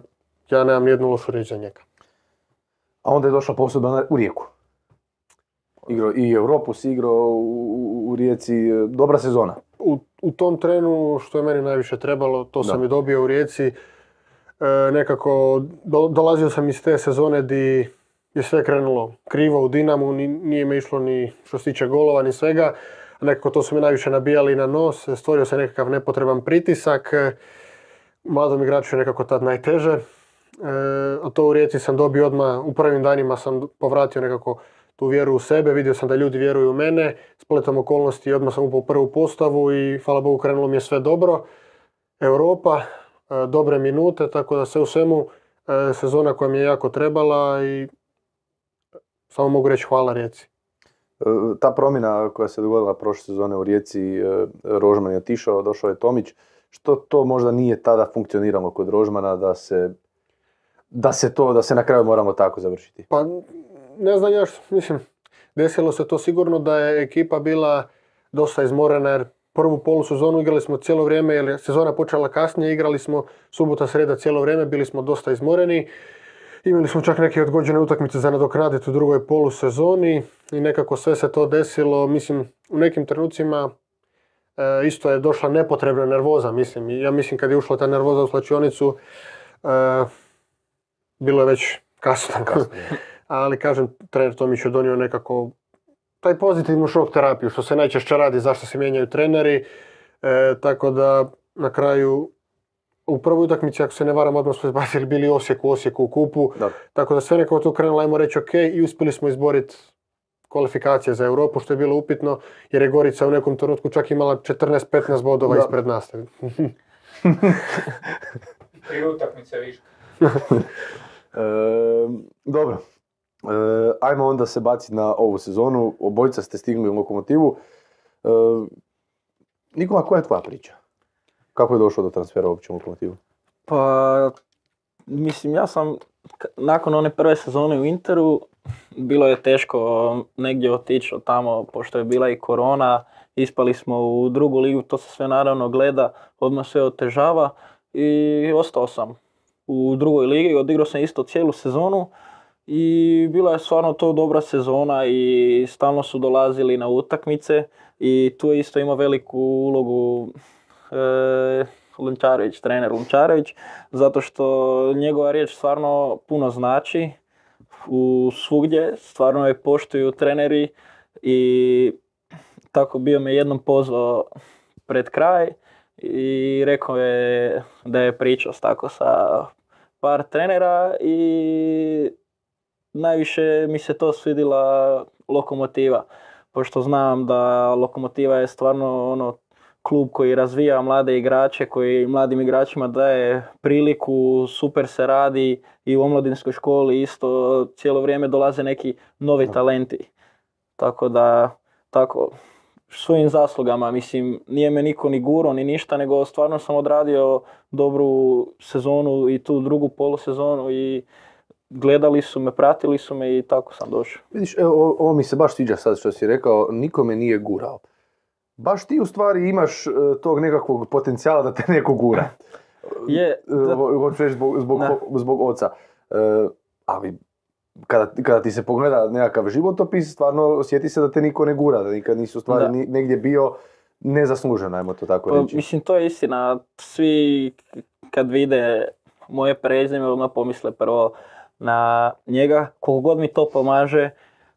ja nemam nijednu lošu riječ za njega. A onda je došla posudba u Rijeku. Igrao i Europu si igrao u Rijeci, dobra sezona. U tom trenu što je meni najviše trebalo, to sam i dobio u Rijeci. Nekako dolazio sam iz te sezone gdje je sve krenulo krivo u Dinamu, nije me išlo ni što se tiče golova ni svega. Nekako to su mi najviše nabijali na nos, stvorio se nekakav nepotreban pritisak. Mladom igraču je nekako tad najteže. A to u Rijeci sam dobio odmah, u prvim danima sam povratio nekako tu vjeru u sebe, vidio sam da ljudi vjeruju u mene, spletom okolnosti odmah sam upao u prvu postavu i hvala Bogu krenulo mi je sve dobro. Europa, dobre minute, tako da sve u svemu sezona koja mi je jako trebala i samo mogu reći hvala Rijeci. Ta promjena koja se dogodila prošle sezone u Rijeci, Rožman je otišao, došao je Tomić, što to možda nije tada funkcioniralo kod Rožmana da se na kraju moramo tako završiti? Pa ne znam ja mislim, desilo se to sigurno da je ekipa bila dosta izmorena jer prvu polusezonu igrali smo cijelo vrijeme jer je sezona počela kasnije, igrali smo subota, sreda cijelo vrijeme, bili smo dosta izmoreni. Imali smo čak neke odgođene utakmice za nadoknaditi u drugoj polusezoni i nekako sve se to desilo, mislim, u nekim trenucima isto je došla nepotrebna nervoza, mislim. Ja mislim kad je ušla ta nervoza u slačionicu, bilo je već kasno. Ali kažem, trener Tomić je donio nekako taj pozitivnu šok terapiju, što se najčešće radi, zašto se mijenjaju treneri. Tako da na kraju, u prvoj utakmici, ako se ne varam, odmah smo izbacili bili Osijeku u kupu. Da. Tako da sve nekako tu krenulo, ajmo reći ok, i uspjeli smo izboriti kvalifikacije za Europu, što je bilo upitno, jer je Gorica u nekom trenutku čak imala 14-15 bodova ispred nas. Tri utakmice više. Dobro. Ajmo onda se baciti na ovu sezonu. Obojica ste stigli u Lokomotivu. Nikola, koja je tvoja priča? Kako je došlo do transfera uopće u Lokomotivu? Pa, mislim, ja sam nakon one prve sezone u Interu, bilo je teško negdje otići od tamo, pošto je bila i korona, ispali smo u drugu ligu, to se sve naravno gleda, odmah sve otežava i ostao sam u drugoj ligi, odigrao sam isto cijelu sezonu i bila je stvarno to dobra sezona i stalno su dolazili na utakmice i tu je isto imao veliku ulogu trener Lunčarević, zato što njegova riječ stvarno puno znači u svugdje, stvarno je poštuju treneri i tako bio me jednom pozvao pred kraj i rekao je da je pričao tako sa par trenera i najviše mi se to svidjela Lokomotiva, pošto znam da Lokomotiva je stvarno klub koji razvija mlade igrače, koji mladim igračima daje priliku, super se radi i u omladinskoj školi isto cijelo vrijeme dolaze neki novi talenti. Tako da tako, svojim zaslugama, mislim, nije me niko ni gurao ni ništa, nego stvarno sam odradio dobru sezonu i tu drugu polusezonu i gledali su me, pratili su me i tako sam došao. Vidiš, evo, ovo mi se baš sviđa sad što si rekao, niko me nije gurao. Baš ti u stvari imaš tog nekakvog potencijala da te neko gura. Je, Hoću reći zbog oca. Ali kada ti se pogleda nekakav životopis, stvarno osjeti se da te niko ne gura, da nikad nisi u stvari negdje bio nezaslužen, ajmo to tako reći. Mislim, to je istina. Svi kad vide moje prezime, odmah pomisle prvo na njega, koliko god mi to pomaže,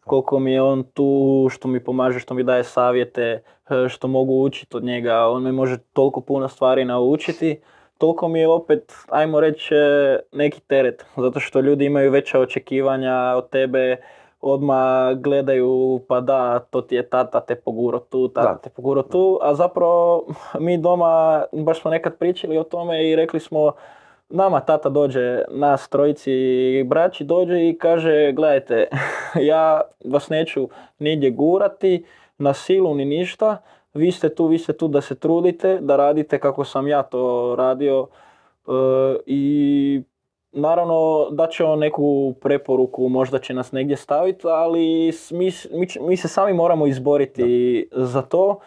koliko mi je on tu, što mi pomaže, što mi daje savjete, što mogu učiti od njega, on me može toliko puno stvari naučiti, toliko mi je opet, ajmo reći, neki teret, zato što ljudi imaju veća očekivanja od tebe, odmah gledaju, pa da, to ti je tata te poguro tu, te poguro tu, a zapravo mi doma, baš smo nekad pričali o tome i rekli smo, nama tata dođe, nas trojici braći dođe i kaže, gledajte, ja vas neću nigdje gurati, na silu ni ništa, vi ste tu da se trudite, da radite kako sam ja to radio i naravno da će on neku preporuku, možda će nas negdje staviti, ali mi se sami moramo izboriti za to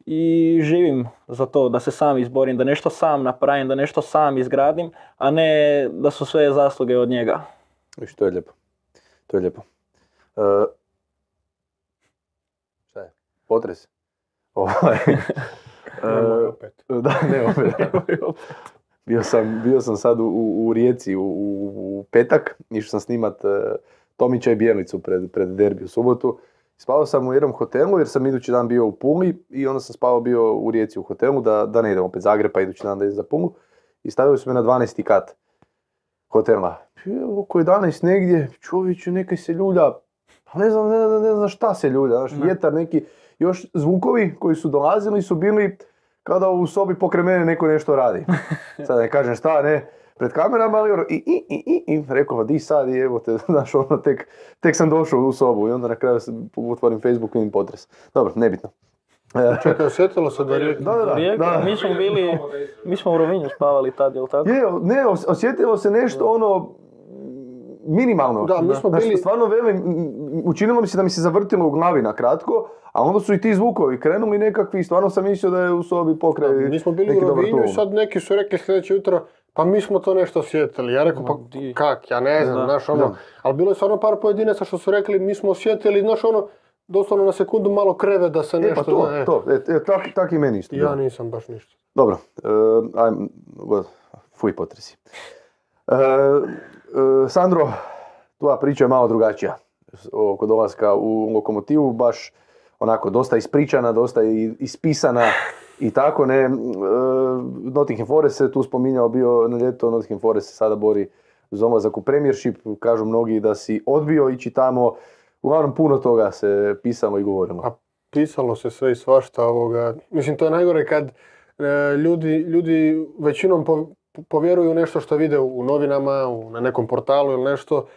i živim za to, da se sam izborim, da nešto sam napravim, da nešto sam izgradim, a ne da su sve zasluge od njega. Viš, to je lijepo. To je lijepo. Šta je? Potres? Da, ne opet. Bio sam sad u Rijeci u petak, išao sam snimat Tomića i Bjernicu pred derbi u subotu. Spavao sam u jednom hotelu jer sam idući dan bio u Puli i onda sam spavao bio u Rijeci u hotelu da ne idem opet Zagreb pa idući dan da idem za Pulu. I stavili su me na 12. kat hotela. Oko 11 negdje, čovječe, nekaj se ljulja, ne znam šta se ljulja, znaš, vjetar neki, još zvukovi koji su dolazili su bili kada u sobi pokraj mene neko nešto radi. Sad ne kažem šta, ne, pred kamerama, ali ono, i rekao, di sad, i evo te, znaš, ono, tek sam došao u sobu i onda na kraju otvorim Facebook i vidim potres. Dobro, nebitno. Čekaj, osjetilo se da je Da. Mi smo u Rovinju spavali tad, jel tako? Ne, osjetilo se nešto ono minimalno. Da, mi smo bili... Stvarno velim, učinilo mi se da mi se zavrtilo u glavi na kratko, a onda su i ti zvukovi krenuli nekakvi, stvarno sam mislio da je u sobi pokraj. Mi smo bili u Rovinju i sad neki su rekli sljedeće jutro, pa mi smo to nešto osjetili. Ja rekao, pa kak, ja ne znam, znaš ono. Ali bilo je stvarno par pojedinaca što su rekli, mi smo osjetili, znaš ono, doslovno na sekundu malo kreve da se nešto... Tak i meni isto. Ja nisam baš ništa. Dobro, fuj potresi. Sandro, tvoja priča je malo drugačija oko dolaska u Lokomotivu, baš onako dosta ispričana, dosta ispisana i tako ne. Nottingham Forest se tu spominjao bio na ljeto, Nottingham Forest se sada bori za ulazak u Premiership, kažu mnogi da si odbio ići tamo, uglavnom puno toga se pisalo i govorilo. A pisalo se sve i svašta ovoga, mislim to je najgore kad ljudi većinom povjeruju nešto što vide u novinama, na nekom portalu ili nešto,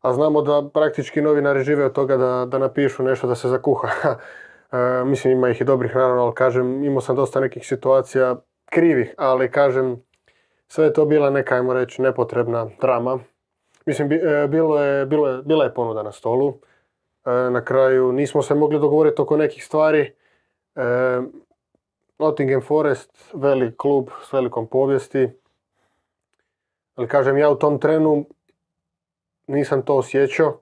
a znamo da praktički novinari žive od toga da napišu nešto da se zakuha. Mislim ima ih i dobrih naravno, ali kažem imao sam dosta nekih situacija krivih, ali kažem sve je to bila neka, ajmo reći, nepotrebna drama. Mislim bila je ponuda na stolu, na kraju nismo se mogli dogovoriti oko nekih stvari. Nottingham Forest, velik klub s velikom povijesti. Ali kažem, ja u tom trenu nisam to osjećao.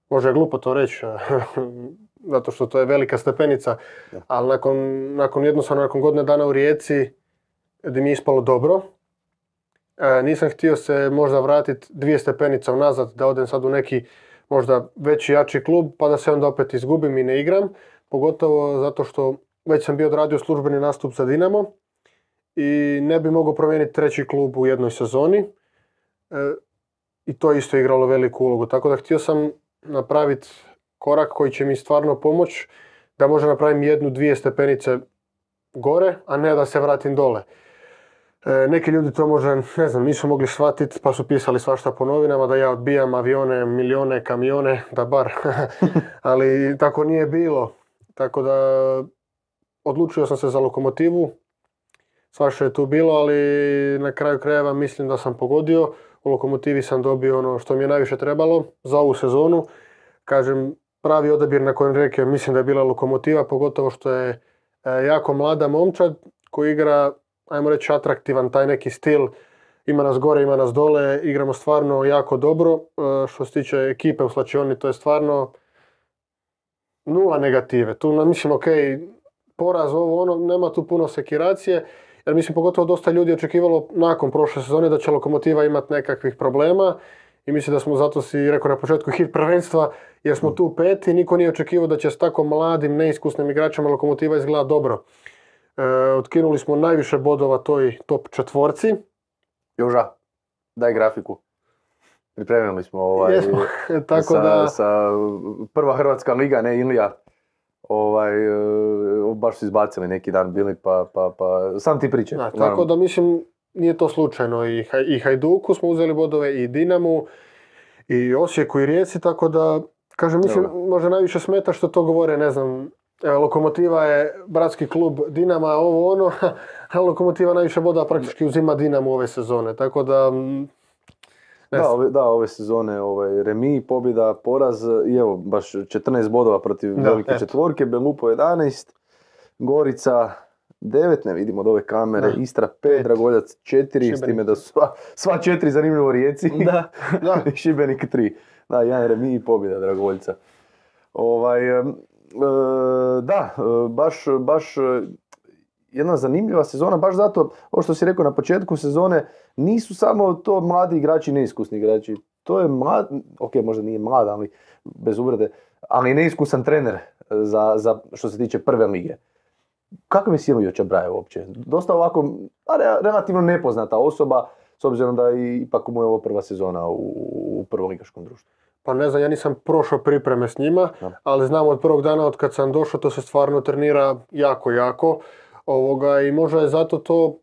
Možda je glupo to reći, zato što to je velika stepenica. Ali nakon godine dana u Rijeci, gdje mi je ispalo dobro, nisam htio se možda vratiti 2 stepenice unazad, da odem sad u neki možda veći, jači klub, pa da se onda opet izgubim i ne igram. Pogotovo zato što već sam bio odradio službeni nastup za Dinamo i ne bi mogao promijeniti 3. klub u jednoj sezoni. I to je isto igralo veliku ulogu. Tako da htio sam napraviti korak koji će mi stvarno pomoći da možda napravim 1-2 stepenice gore, a ne da se vratim dole. Neki ljudi to možda, ne znam, nisu mogli shvatiti pa su pisali svašta po novinama da ja odbijam avione, milijone, kamione, da bar. Ali tako nije bilo. Tako da odlučio sam se za Lokomotivu. Svašta je tu bilo, ali na kraju krajeva mislim da sam pogodio. U Lokomotivi sam dobio ono što mi je najviše trebalo za ovu sezonu. Kažem, pravi odabir na kojem reke mislim da je bila Lokomotiva, pogotovo što je jako mlada momčad koji igra, ajmo reći, atraktivan taj neki stil. Ima nas gore, ima nas dole, igramo stvarno jako dobro. Što se tiče ekipe u slačioni, to je stvarno nula negative. Tu mislim, ok, poraz, ovo, ono, nema tu puno sekiracije. Jer mislim, pogotovo dosta ljudi očekivalo nakon prošle sezone da će Lokomotiva imati nekakvih problema. I mislim da smo, zato si rekao na početku, hit prvenstva, jer smo tu peti. Niko nije očekivao da će s tako mladim, neiskusnim igračima Lokomotiva izgleda dobro. Otkinuli smo najviše bodova toj top četvorci. Joža, daj grafiku. Pripremili smo Jesmo, tako sa prva Hrvatska liga, ne Ilija. Baš su izbacili neki dan bili, pa sam ti pričaj. Tako da mislim, nije to slučajno. I Hajduku smo uzeli bodove, i Dinamu, i Osijeku, i Rijeci, tako da, kažem, mislim, možda najviše smeta što to govore, ne znam, Lokomotiva je bratski klub Dinama, ovo ono, a Lokomotiva najviše boda praktički uzima Dinamu ove sezone, tako da... ove sezone remi, pobjeda, poraz i evo baš 14 bodova protiv velike četvorke, Belupo 11, Gorica 9, ne vidimo od ove kamere, Istra 5, Dragoljac 4, s time da su sva 4 zanimljivo Rijeci, i Šibenik 3. Da, jedan remi i pobjeda Dragoljca. Baš jedna zanimljiva sezona, baš zato, ovo što si rekao na početku sezone, nisu samo to mladi igrači, neiskusni igrači. To je mlad, ok, možda nije mlad, ali bez uvrede, ali neiskusan trener za što se tiče prve lige. Kakav je Silvio Čabraja uopće? Dosta ovako, relativno nepoznata osoba, s obzirom da ipak mu je ovo prva sezona u prvoligaškom društvu. Pa ne znam, ja nisam prošao pripreme s njima, ali znam od prvog dana od kad sam došao, to se stvarno trenira jako. I možda je zato to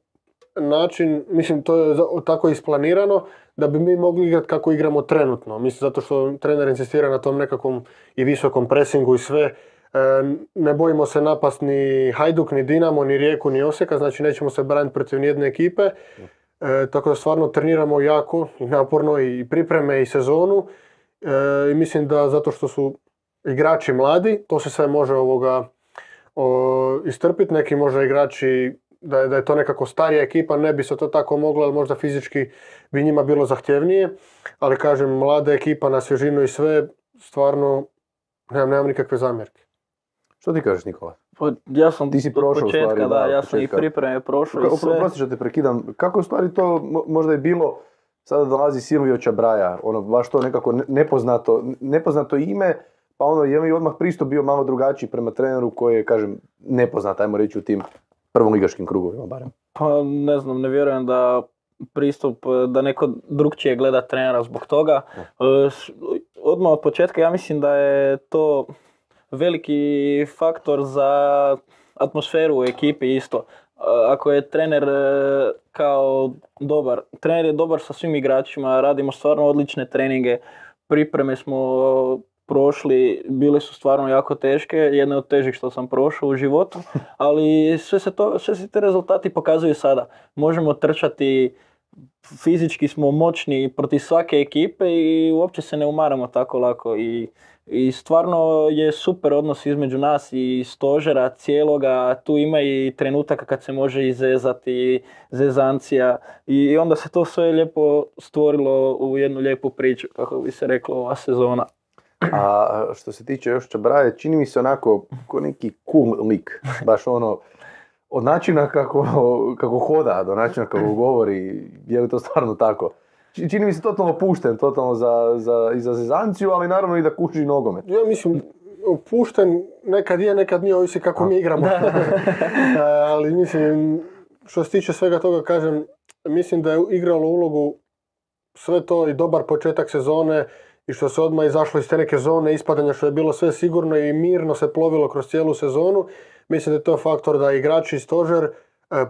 način, mislim, to je tako isplanirano da bi mi mogli igrati kako igramo trenutno. Mislim, zato što trener insistira na tom nekakvom i visokom presingu i sve. Ne bojimo se napast ni Hajduk, ni Dinamo, ni Rijeku, ni Osijeka, znači nećemo se braniti protiv nijedne ekipe. Tako da stvarno treniramo jako i naporno i pripreme i sezonu. I mislim da zato što su igrači mladi, to se sve može istrpiti. Neki možda igrači, da je to nekako starija ekipa, ne bi se to tako moglo, ali možda fizički bi njima bilo zahtjevnije. Ali kažem, mlada ekipa na svježinu i sve, stvarno nemam nikakve zamjerke. Što ti kažeš, Nikola? Ja sam ti si prošao, početka, u stvari, ja sam i pripreme prošao i sve. Oprosti što te prekidam, kako u stvari to možda je bilo, sada dolazi Silvio Čabraja, baš to nekako nepoznato ime, pa je li odmah pristup bio malo drugačiji prema treneru koji je, kažem, nepoznat, ajmo reći, u tim prvoligaškim krugovima barem? Pa ne znam, ne vjerujem da pristup, da neko drugčije gleda trenera zbog toga. Odmah od početka ja mislim da je to veliki faktor za atmosferu u ekipi isto. Ako je trener kao dobar, trener je dobar sa svim igračima, radimo stvarno odlične treninge, pripreme smo prošli, bile su stvarno jako teške, jedne od težih što sam prošao u životu, ali sve se te rezultati pokazuju sada. Možemo trčati, fizički smo moćni protiv svake ekipe i uopće se ne umaramo tako lako. I stvarno je super odnos između nas i stožera cijeloga, tu ima i trenutaka kad se može izezati, zezancija i onda se to sve lijepo stvorilo u jednu lijepu priču, kako bi se reklo, ova sezona. A što se tiče još Čabraje, čini mi se onako ko neki cool lik, baš od načina kako hoda, do načina kako govori, je li to stvarno tako? Čini mi se totalno pušten, totalno i za zezanciju, ali naravno i da kuži nogomet. Ja mislim, pušten nekad je, nekad nije, ovisi kako mi igramo. Ali mislim, što se tiče svega toga, kažem, mislim da je igralo ulogu sve to i dobar početak sezone i što se odmah izašlo iz te neke zone ispadanja, što je bilo sve sigurno i mirno se plovilo kroz cijelu sezonu. Mislim da je to faktor da igrači i stožer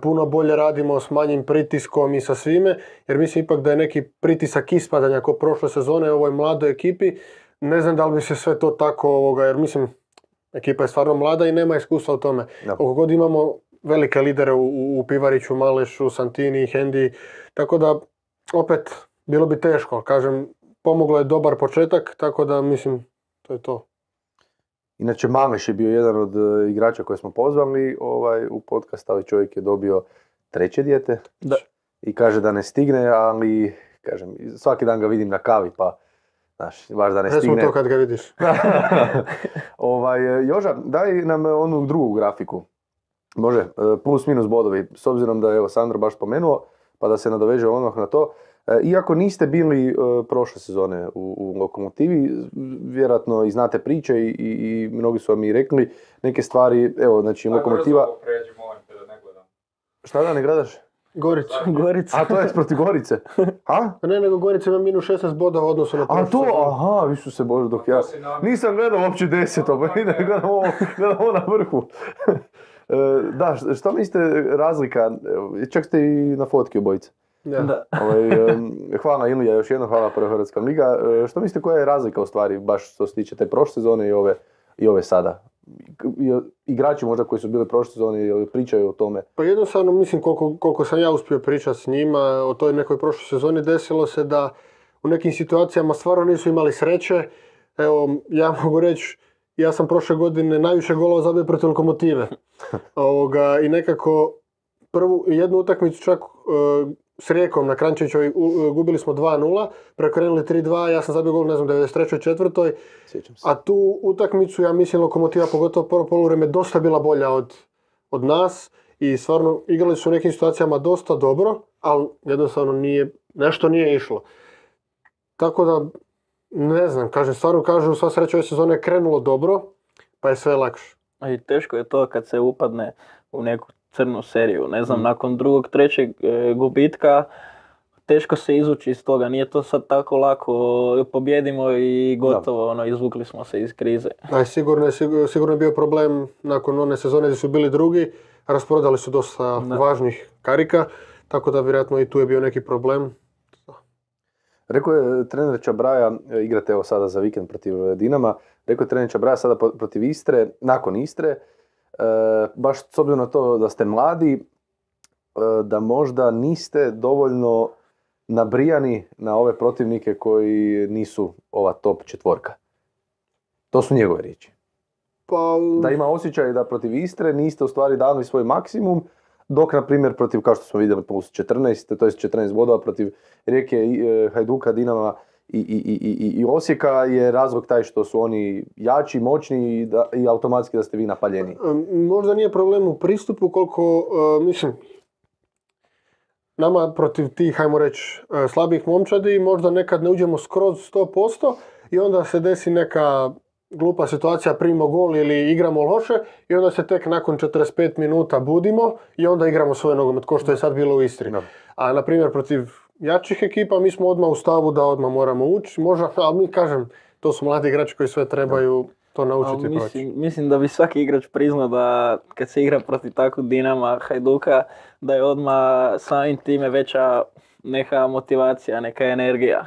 puno bolje radimo s manjim pritiskom i sa svime, jer mislim ipak da je neki pritisak ispadanja kao prošle sezone u ovoj mladoj ekipi. Ne znam da li bi se sve to tako, jer mislim, Ekipa je stvarno mlada i nema iskustva u tome. Da. Koliko god imamo velike lidere u Pivariću, Malešu, Santini, Hendi, tako da opet bilo bi teško. Kažem, pomoglo je dobar početak, tako da mislim, to je to. Inače, Mameš je bio jedan od igrača koje smo pozvali u podcast, ali čovjek je dobio 3. dijete. Da. I kaže da ne stigne, ali kažem, svaki dan ga vidim na kavi, pa znaš, baš da ne Recimo stigne. to kad ga vidiš. Joža, daj nam onu drugu grafiku. Može, plus minus bodovi, s obzirom da je evo Sandro baš spomenuo, pa da se nadoveže odmah na to. Iako niste bili prošle sezone u Lokomotivi, vjerojatno i znate priče i mnogi su vam i rekli neke stvari, evo, znači Lokomotiva... Brzo pređi, molim te da ne gledam. Šta da ne gledaš? Gorica. Gorica. A to je protiv Gorice? A? Ne, nego Gorica ima minus 16 bodova u odnosu na A prošlu to, sezonu. aha, višu se Bože, dok ja... To si namjerno. Nisam gledao uopće 10, pa idem, gledam ovo na vrhu. Da, što mislite razlika, čak ste i na fotki obojice. Da. Da. Hvala Ilija, još jednom hvala Prva Hrvatska liga. Što mislite koja je razlika u stvari, baš što se tiče te prošle sezone i ove sada? Igrači možda koji su bili prošle sezone pričaju o tome. Pa jednostavno, mislim, koliko sam ja uspio pričati s njima o toj nekoj prošloj sezoni, desilo se da u nekim situacijama stvarno nisu imali sreće. Evo, ja mogu reći, ja sam prošle godine najviše golova zabio protiv Lokomotive. I nekako jednu utakmicu čak s Rijekom na Kranjčevićevoj gubili smo 2-0, preokrenuli 3-2, ja sam zabio gol, ne znam, 93. četvrtoj. Sjećam se. A tu utakmicu, ja mislim, Lokomotiva, pogotovo prvo poluvreme, dosta bila bolja od nas i stvarno igrali su u nekim situacijama dosta dobro, ali jednostavno nešto nije išlo. Tako da, ne znam, stvarno kažu, sva sreća ove sezone je krenulo dobro, pa je sve lakše. I teško je to kad se upadne u neku crnu seriju. Ne znam, nakon drugog, trećeg gubitka, teško se izvući iz toga. Nije to sad tako lako, pobjedimo i gotovo, izvukli smo se iz krize. Sigurno je bio problem nakon one sezone gdje su bili drugi, rasprodali su dosta važnih karika, tako da vjerojatno i tu je bio neki problem. Rekao je trener Čabraja, igrate evo sada za vikend protiv Dinama, rekao je trener Čabraja sada protiv Istre, nakon Istre, baš s obzirom na to da ste mladi, da možda niste dovoljno nabrijani na ove protivnike koji nisu ova top 4. To su njegove riječi. Pa, Da ima osjećaj da protiv Istre niste u stvari dali svoj maksimum, dok na primjer protiv, kao što smo vidjeli, plus 14, to je 14 bodova protiv Rijeke, Hajduka, Dinama i Osijeka je razlog taj što su oni jači, moćni i automatski da ste vi napaljeni. možda nije problem u pristupu koliko, mislim, nama protiv tih, hajmo reći, slabih momčadi možda nekad ne uđemo skroz 100% i onda se desi neka glupa situacija, primimo gol ili igramo loše i onda se tek nakon 45 minuta budimo i onda igramo svoj nogomet, kao što je sad bilo u Istri. Da. A na primjer protiv jačih ekipa mi smo odmah u stavu da odmah moramo ući, možda, ali mi kažem, to su mladi igrači koji sve trebaju to naučiti i proći. Mislim da bi svaki igrač priznao da kad se igra protiv takvog Dinama, Hajduka, da je odmah samim time veća neka motivacija, neka energija.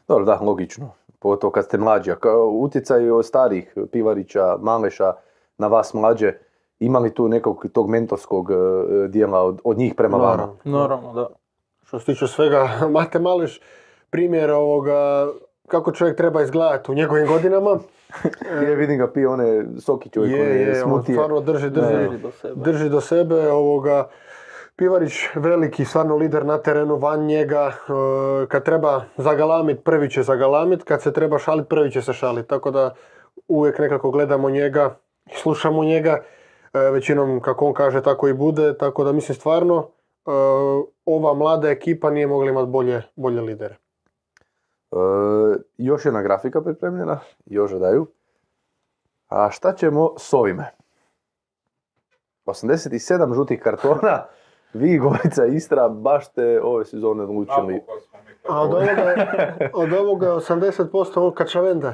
Dobro, da, logično. Pogotovo kad ste mlađi. Utjecaj od starih Pivarića, Maleša na vas mlađe, ima li tu nekog tog mentorskog dijela od njih prema vama? Naravno, da. Što se tiče svega, Mate Maleš, primjer kako čovjek treba izgledati u njegovim godinama. Vidim ga pije one sokiće koje on smutije. stvarno drži do sebe. Pivarić veliki, stvarno lider na terenu, van njega. Kad treba zagalamit, prvi će zagalamit. Kad se treba šalit, prvi će se šalit. Tako da uvijek nekako gledamo njega i slušamo njega. Većinom kako on kaže tako i bude. Tako da mislim stvarno ova mlada ekipa nije mogla imati bolje lidere. Još jedna grafika pripremljena, još daju. A šta ćemo s ovime? 87 žutih kartona, vi Gorica Istra baš ste ove sezone odlučili. Napokon smo mi A od ovoga je 80% ovog Kačavenda.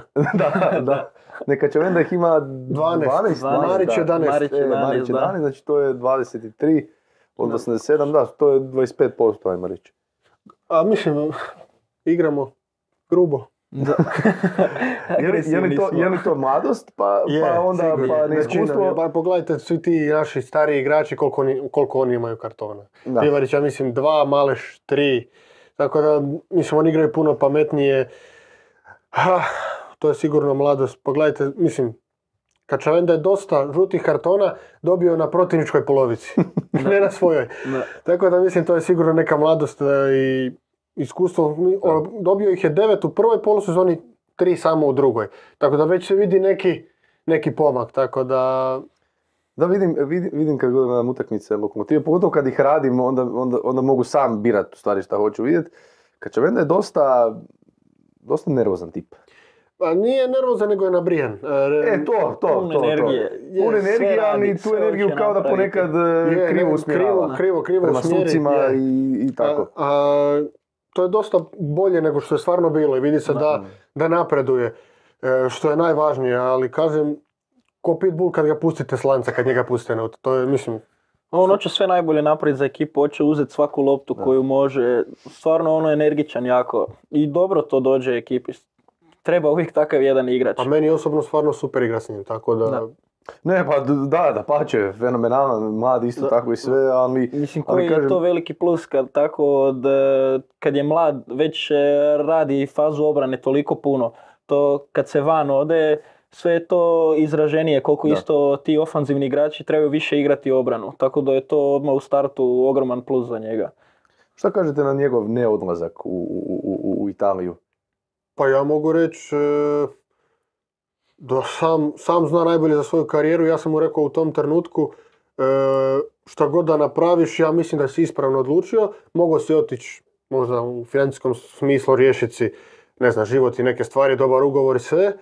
Da. Ne, Kačavenda ih ima 12. Marić 11. Marić 11, znači to je 23 od 87, da, to je 25%, ajmo reći. A mislim, igramo grubo. Da. Je li to mladost, pa onda sigurno. pa neiskustvo? Većina, pa pogledajte svi ti naši stariji igrači koliko oni imaju kartona. Da. Rivarić, ja mislim 2, Maleš 3. Tako da, mislim, oni igraju puno pametnije. To je sigurno mladost. Pogledajte, mislim, Kačavenda je dosta žutih kartona dobio na protivničkoj polovici, ne na svojoj. Da. Tako da mislim to je sigurno neka mladost i iskustvo. Dobio ih je 9 u prvoj polusezoni, 3 samo u drugoj. Tako da već se vidi neki pomak. Tako da... Da, vidim kad gledam utakmice Lokomotive, pogotovo kad ih radim, onda mogu sam birat u stvari šta hoću vidjeti. Kačavenda je dosta nervozan tip. Pa nije nervozan, nego je nabrijan. To. Pun energije. Pun energije, ali tu energiju kao da ponekad krivo usmjerava. Krivo Prema usmjeri. sucima i tako. To je dosta bolje nego što je stvarno bilo i vidi se da napreduje, što je najvažnije, ali kažem, ko pitbull kad ga pustite s lanca, kad njega pustite na auto, to je, mislim... On hoće sve najbolje napraviti za ekipu, hoće uzeti svaku loptu koju može, stvarno ono energičan jako i dobro to dođe ekipi. Treba uvijek takav jedan igrač. A meni osobno stvarno super igra s njim, tako da... Ne, pa da pače, fenomenalan, mlad isto tako i sve, ali... Mislim, koji je to veliki plus kad je mlad, već radi fazu obrane toliko puno. To kad se van ode, sve je to izraženije, koliko isto ti ofanzivni igrači trebaju više igrati obranu. Tako da je to odmah u startu ogroman plus za njega. Šta kažete na njegov neodlazak u Italiju? Pa ja mogu reći da sam zna najbolje za svoju karijeru. Ja sam mu rekao u tom trenutku šta god da napraviš, ja mislim da si ispravno odlučio. Mogao si otići možda u financijskom smislu riješiti si, ne znam, život i neke stvari, dobar ugovor i sve.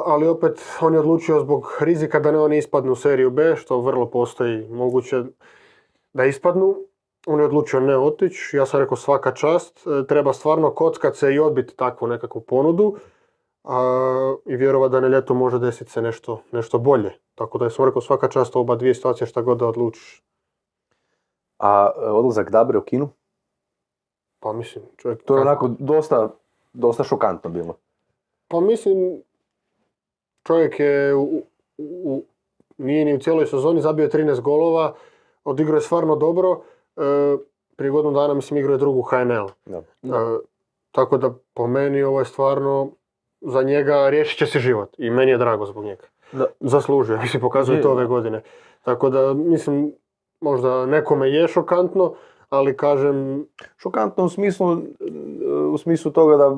Ali opet on je odlučio zbog rizika da ne oni ispadnu u seriju B, što vrlo postoji moguće da ispadnu. On je odlučio ne otići, ja sam rekao svaka čast, treba stvarno kockat se i odbiti takvu nekakvu ponudu i vjerovat da na ljetu može desiti se nešto bolje. Tako da sam rekao svaka čast oba dvije situacije šta god da odlučiš. A odlazak Dabre u Kinu? Pa mislim, čovjek... To je onako dosta šokantno bilo. Pa mislim, čovjek je nije ni u cijeloj sezoni zabio 13 golova, odigrao je stvarno dobro. Prije godinu dana mislim igrao je drugu HNL. Tako da po meni ovo je stvarno za njega riješit će se život i meni je drago zbog njega. Zaslužuje, mislim pokazuje to ove godine. Tako da mislim možda nekome je šokantno, ali kažem... Šokantno u smislu toga da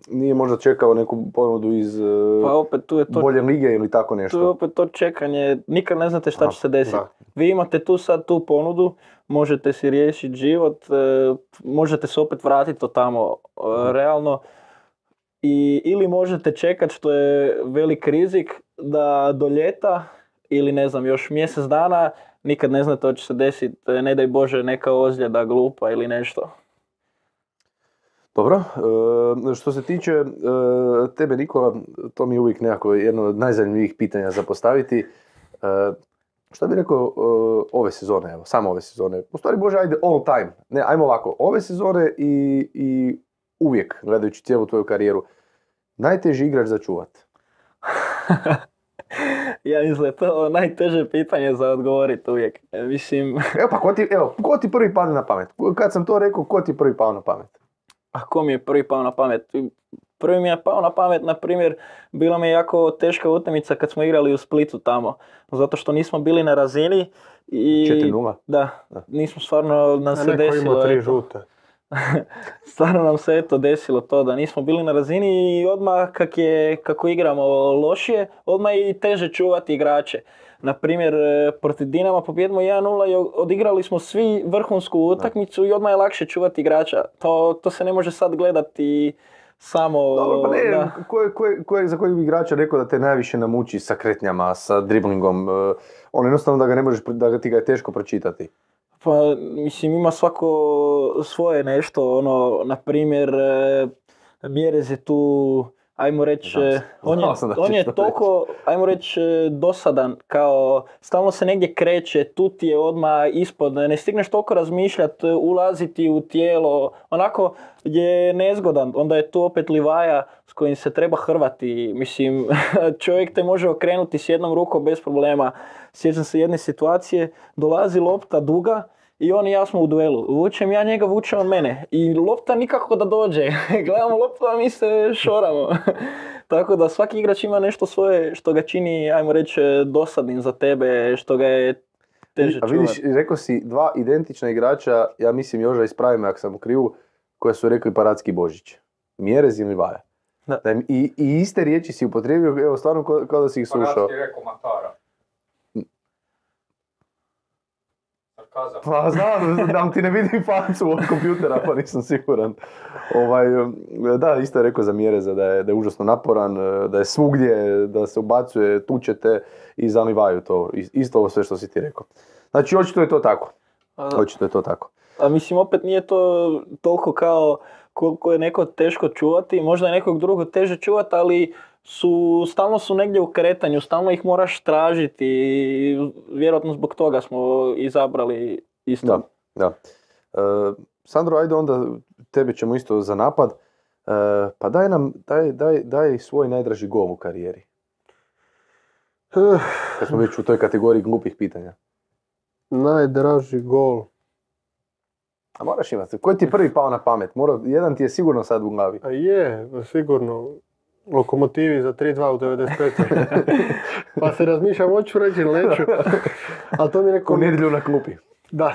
nije možda čekao neku ponudu iz bolje lige ili tako nešto. Tu je opet to čekanje, nikad ne znate šta će se desiti. Vi imate tu ponudu, možete si riješiti život, možete se opet vratiti tamo realno. Ili možete čekati, što je velik rizik, da do ljeta ili ne znam još mjesec dana nikad ne znate što će se desiti, ne daj Bože neka ozljeda glupa ili nešto. Dobro, što se tiče tebe Nikola, to mi je uvijek nekako jedno od najzanimljivijih pitanja za postaviti. Šta bi rekao ove sezone, evo, samo ove sezone, u stvari Bože ajde all time, ne ajmo ovako, ove sezone i uvijek gledajući cijelu tvoju karijeru, najteži igrač za čuvat? Ja mislim da to najteže pitanje za odgovoriti uvijek. Mislim... Evo pa ko ti prvi padne na pamet? Kad sam to rekao, ko ti prvi pao na pamet? A ko mi je prvi pao na pamet? Prvi mi je pao na pamet, na primjer, bila mi je jako teška utakmica kad smo igrali u Splitu tamo. Zato što nismo bili na razini i... 4-0? Da, nismo stvarno nam se desilo. Neko ima 3 žute. Stvarno nam se desilo to da nismo bili na razini i odmah kako igramo lošije, odmah je i teže čuvati igrače. Naprimjer, protiv Dinama pobjedimo 1-0 i odigrali smo svi vrhunsku utakmicu i odmah je lakše čuvati igrača. To se ne može sad gledati samo... Dobro, pa ne, za kojeg igrača rekao da te najviše namuči sa kretnjama, sa driblingom, on jednostavno da ti ga je teško pročitati? Pa, mislim, ima svako svoje nešto, na primjer, Mjerez je tu ajmo reći, Znao sam da on ćeš je to toliko, ajmo reći, dosadan, kao stalno se negdje kreće, tu ti je odmah ispod, ne stigneš toliko razmišljati, ulaziti u tijelo, onako je nezgodan, onda je tu opet Livaja s kojim se treba hrvati, mislim, čovjek te može okrenuti s jednom rukom bez problema. Sjećam se jedne situacije, dolazi lopta duga, i on i ja smo u duelu. Vučem ja njega, vuče on mene. I lopta nikako da dođe. Gledamo loptu, a mi se šoramo. Tako da svaki igrač ima nešto svoje što ga čini, ajmo reći, dosadnim za tebe, što ga je teže A čuvati. vidiš, rekao si dva identična igrača, ja mislim Joža ispravi me ako sam u krivu, koje su rekli Paradski Božić. Mjerez i Livaja. Da. I iste riječi si upotrijebio, evo stvarno kao da si ih slušao. Paradski je rekao Matara. Sarkazam. Pa znam, da ti ne vidim facu od kompjutera, pa nisam siguran. Da, isto je rekao za Mjereza da je užasno naporan, da je svugdje, da se ubacuje, tučete i zalivaju to. Isto ovo sve što si ti rekao. Znači, očito je to tako. Očito je to tako. A mislim, opet nije to toliko kao koliko je neko teško čuvati, možda je nekog drugog teže čuvati, ali stalno su negdje u kretanju, stalno ih moraš tražiti i vjerojatno zbog toga smo izabrali isto. Da. Sandro, ajde onda, tebe ćemo isto za napad. Pa daj svoj najdraži gol u karijeri. Kad smo već u toj kategoriji glupih pitanja. Najdraži gol. A moraš imati, koji ti je prvi pao na pamet? Jedan ti je sigurno sad u glavi. A je, sigurno. Lokomotivi za 3-2 u 95. Pa se razmišljam, hoću reći ili neću. Ali to mi je neko... U nedjelju na klupi. Da.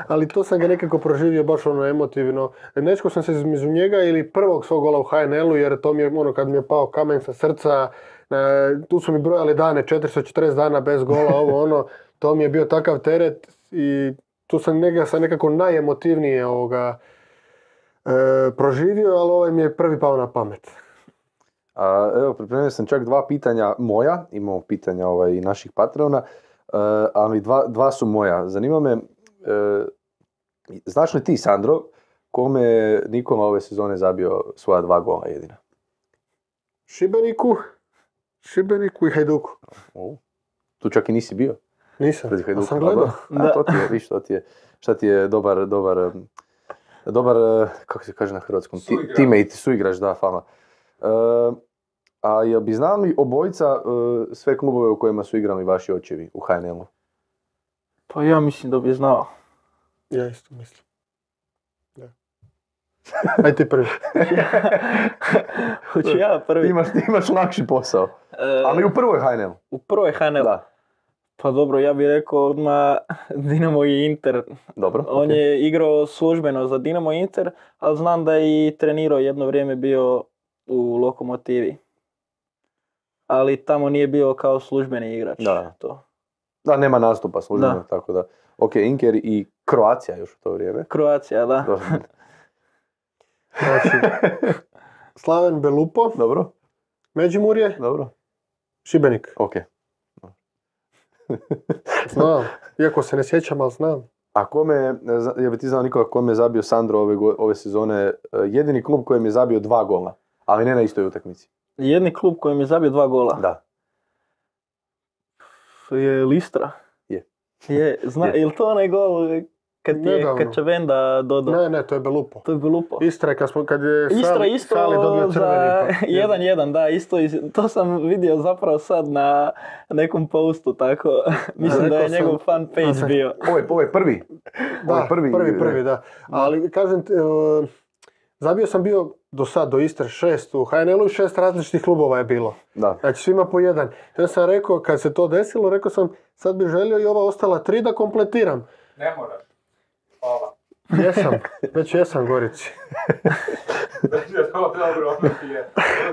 Ali to sam ga nekako proživio baš ono emotivno. Nečko sam se između njega ili prvog svog gola u HNL-u, jer to mi je ono kad mi je pao kamen sa srca. Tu su mi brojali dane, 440 dana bez gola, ovo ono. To mi je bio takav teret i tu sam nekako najemotivnije proživio, ali ovaj mi je prvi pao na pamet. Evo, pripremio sam čak dva pitanja moja, imamo pitanja i naših patrona, ali dva su moja. Zanima me, znaš li ti, Sandro, kome je Nikola ove sezone zabio svoja 2 gola jedina? Šibeniku i Hajduku. Tu čak i nisi bio? Nisam, Hajduku, sam gledao. To ti je, viš, šta ti je dobar, kako se kaže na hrvatskom, teammate, suigrač, da, fama. A jel bi znali obojica sve klubove u kojima su igrali vaši očevi u HNL-u? Pa ja mislim da bi znao. Ja isto mislim. Da. Aj ti prvi. Hoću ja prvi. Imaš lakši posao. Ali u prvoj HNL. U prvoj HNL? Da. Pa dobro, ja bih rekao odmah Dinamo i Inter. Dobro. On je igrao službeno za Dinamo i Inter, ali znam da je i trenirao jedno vrijeme bio u Lokomotivi. Ali tamo nije bio kao službeni igrač. Da. To. Da, nema nastupa službeno, tako da. Ok, Inter i Kroacija još u to vrijeme. Kroacija, da. Znači, Slaven Belupo. Dobro. Međimurje. Dobro. Šibenik. Ok. Znam, iako se ne sjećam, ali znam. A ja bi ti znao Nikola, kome je zabio Sandro ove sezone, jedini klub kojem je zabio 2 gola, ali ne na istoj utakmici. Jedni klub kojem je zabio 2 gola? Da. Je Listra. Je. Je li to onaj gol kad Čavenda dodao? Ne, to je Belupo. To je Belupo. Istra, kad je Istra isto Sali dobio za crveni. 1-1, da, isto. To sam vidio zapravo sad na nekom postu, tako. Mislim da je njegov fan page bio. Ovo je prvi. Da, prvi, da. Ali kažem, zabio sam bio do sad, do Istre 6 u HNL-u i 6 različitih klubova je bilo. Da. Znači svima po jedan. Ja sam rekao, kad se to desilo, rekao sam sad bih želio i ova ostala 3 da kompletiram. Ne moraš. Hvala. Jesam Gorici. Dobro, ono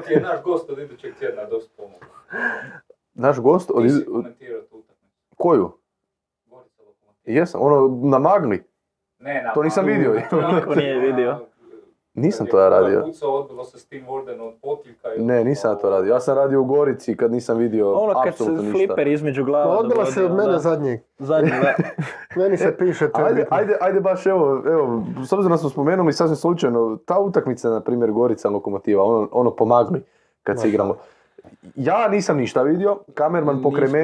ti je naš gost od idućeg tjedna dosta pomogao. Naš gost od... Ti si komentirao tu utakmicu. Koju? Gorica Lokomotiva. Jesam, na magli. Ne, to nisam vidio. Niko nije vidio. Nisam to ja radio. Pucao, odbilo se s tim Warden od potiljka. Ne, nisam ja to radio. Ja sam radio u Gorici kad nisam vidio Ono kad se apsolutno ništa. fliper između glava Odbila se od dogodio, mene da. zadnjeg. Zadnji, da. Meni se piše to. je bitno. Ajde baš evo, s obzirom da smo spomenuli sasvim slučajno, ta utakmica, na primjer, Gorica Lokomotiva, ono pomagli kad se igramo. Ja nisam ništa vidio, kamerman pokraj Nismo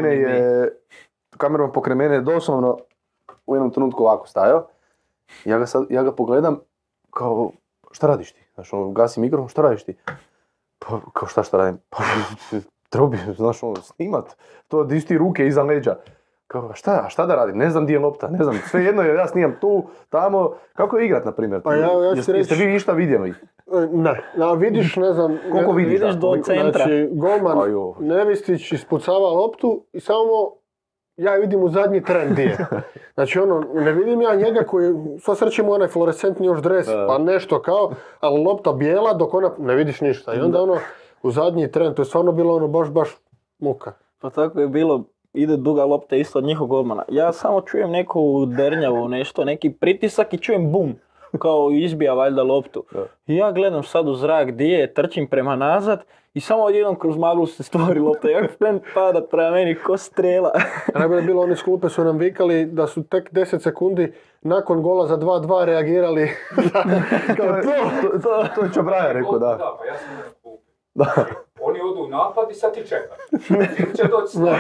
mene ni je doslovno u jednom trenutku ovako stajao. Ja ga pogledam kao, šta radiš ti? Znaš, gasi mikrofon, šta radiš ti? Pa, kao šta radim? Pa, trebao bi, znaš, snimat. To di ti ruke iza leđa. Kao, šta da radim? Ne znam di je lopta, ne znam. Sve jedno je, ja snimam tu, tamo. Kako je igrat, na primjer? Pa ja ću Jeste reći- vi išta vidjeli? Ne, vidiš, ne znam... Koliko ne- vidiš? Vidiš do centra. Znači, golman Ajo. Nevistić ispucava loptu i samo ja vidim u zadnji tren gdje je. Znači ne vidim ja njega koji, sva sreće mu onaj fluorescentni još dres, pa nešto kao, ali lopta bijela dok ona, ne vidiš ništa. I onda u zadnji tren, to je stvarno bilo baš muka. Pa tako je bilo, ide duga lopta isto od njihovog golmana. Ja samo čujem neku dernjavu, nešto, neki pritisak i čujem bum. Kao izbija valjda loptu. I ja gledam sad u zrak gdje je, trčim prema nazad i samo odjednom kroz maglu se stvori lopta. Jak plen pada prema meni ko strela. Najbolje je bilo, oni s klupe su nam vikali da su tek 10 sekundi nakon gola za 2-2 reagirali. To je Čabraja rekao, da. Da, pa ja sam na klupi. Oni odu u napad i sad ti čekaš. Ili će doći snad,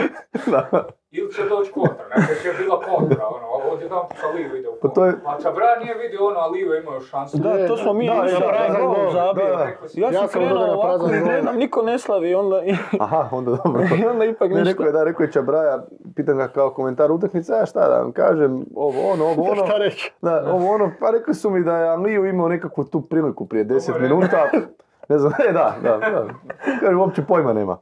ili će doći kontra. Nekaj će bila kontra, ovdje tamo sa Livo ide u Pa to je- kontra. A Čabra nije vidio ono, a Livo imao šansu. Da, to smo mi Da, išli, prazan gol gol, zabio. da. Ja Ja sam sam krenuo gledao na ovako, prazan gol. gledam, niko ne slavi, onda, Aha, onda dobro. i onda ipak Ne, ništa. rekao je Čabraja, pitam ga kao komentar utakmice, a šta da vam kažem, ovo ono. Šta reći? Da, ovo ono, pa rekli su mi da je Aliju imao nekakvu tu priliku prije 10 minuta. Ne znam, da. Kažem, uopće pojma nema.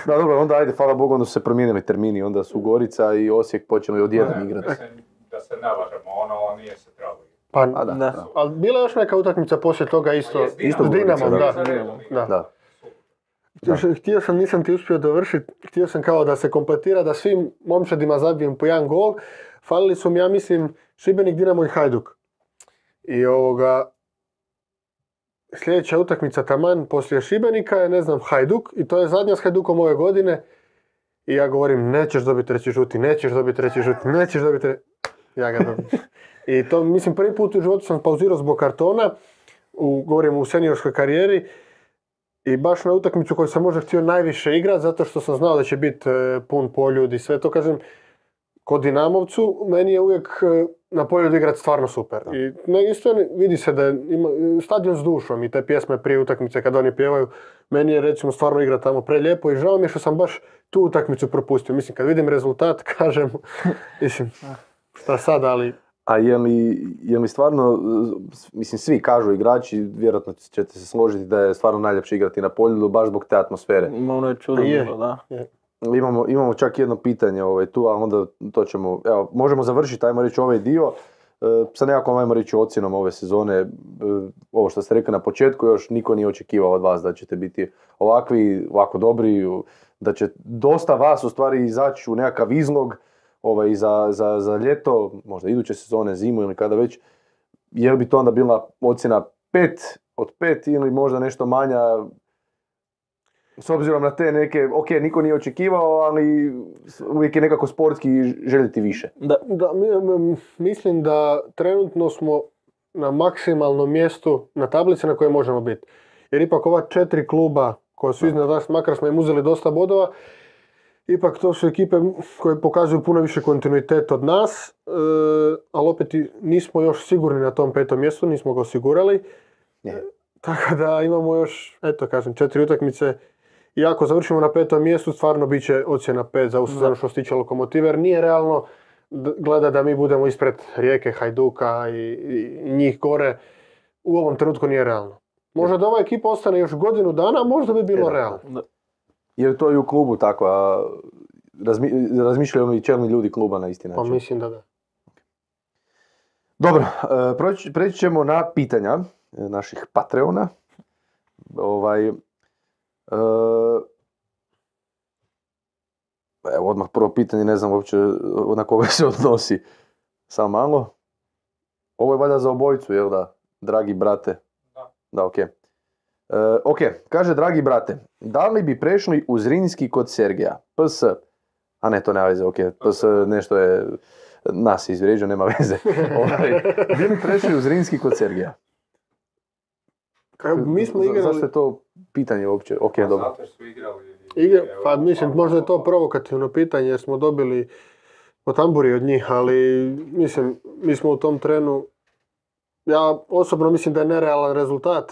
Da, dobro, onda ajde, hvala Bogu, onda su se promijenili termini, onda su Gorica i Osijek počeli odjednom igrati. Mislim, da se ne lažemo, ono nije se trebalo. Pa, A da, Da. ali bila je još neka utakmica poslije toga isto. Isto S Dinamom, Gorica, da. da. Da. Da. Htio sam, nisam ti uspio dovršiti, htio sam kao da se kompletira, da svim momčadima zabijem po jedan gol. Falili su mi, ja mislim, Šibenik, Dinamo i Hajduk. I sljedeća utakmica taman poslije Šibenika je, ne znam, Hajduk. I to je zadnja s Hajdukom ove godine. I ja govorim, nećeš dobiti treći žuti. Ja ga dobijem. I to, mislim, prvi put u životu sam pauzirao zbog kartona. Govorim u seniorskoj karijeri. I baš na utakmicu koju sam možda htio najviše igrati, zato što sam znao da će biti pun poljud i sve to, kažem, kod Dinamovcu, meni je uvijek na poljudu igrati stvarno super. I isto vidi se da ima stadion s dušom i te pjesme prije utakmice kad oni pjevaju, meni je recimo stvarno igra tamo prelijepo i žao mi je što sam baš tu utakmicu propustio. Mislim, kad vidim rezultat, kažem, mislim, šta sad, ali... A je li stvarno, mislim, svi kažu igrači, vjerojatno ćete se složiti da je stvarno najljepše igrati na poljudu baš zbog te atmosfere. Ono je čudno Je. bilo, da. Imamo čak jedno pitanje tu, a onda to ćemo, evo, možemo završiti, ajmo reći, ovaj dio sa nekakvom, ajmo reći, ocjenom ove sezone. Ovo što ste rekli na početku, još niko nije očekivao od vas da ćete biti ovako dobri, da će dosta vas u stvari izaći u nekakav izlog za ljeto, možda iduće sezone, zimu ili kada već. Je li bi to onda bila ocjena 5 od 5 ili možda nešto manja? S obzirom na te neke, niko nije očekivao, ali uvijek je nekako sportski željeti više. Da. Mislim da trenutno smo na maksimalnom mjestu na tablici na kojoj možemo biti. Jer ipak ova 4 kluba koja su iznad nas, makar smo im uzeli dosta bodova, ipak to su ekipe koje pokazuju puno više kontinuitet od nas, ali opet nismo još sigurni na tom 5. mjestu, nismo ga osigurali. Tako da imamo još, 4 utakmice. I ako završimo na 5. mjestu, stvarno bit će ocjena 5 za ovu sezonu što se tiče Lokomotive, jer nije realno gleda da mi budemo ispred Rijeke, Hajduka i njih gore. U ovom trenutku nije realno. Možda da ova ekipa ostane još godinu dana, možda bi bilo realno. Jer to je u klubu tako, a razmišljaju li čelni ljudi kluba na isti Pa način? mislim da da. Dobro, preći ćemo na pitanja naših Patreona. Evo odmah prvo pitanje, ne znam uopće na koga se odnosi. Samo malo. Ovo je valjda za obojicu, jel da? Dragi brate. Da, ok. Ok, kaže, dragi brate, da li bi prešli u Zrinski kod Sergeja? PS. A ne, to nema veze, ok. PS nešto je nas izvrijeđao, nema veze. Bi li prešli u Zrinski kod Sergeja? Mi smo igrali... Zašto je to pitanje uopće? Ok, dobro. Zato su igrali... Pa mislim, možda je to provokativno pitanje jer smo dobili po tamburi od njih, ali mislim, mi smo u tom trenu, ja osobno mislim da je nerealan rezultat.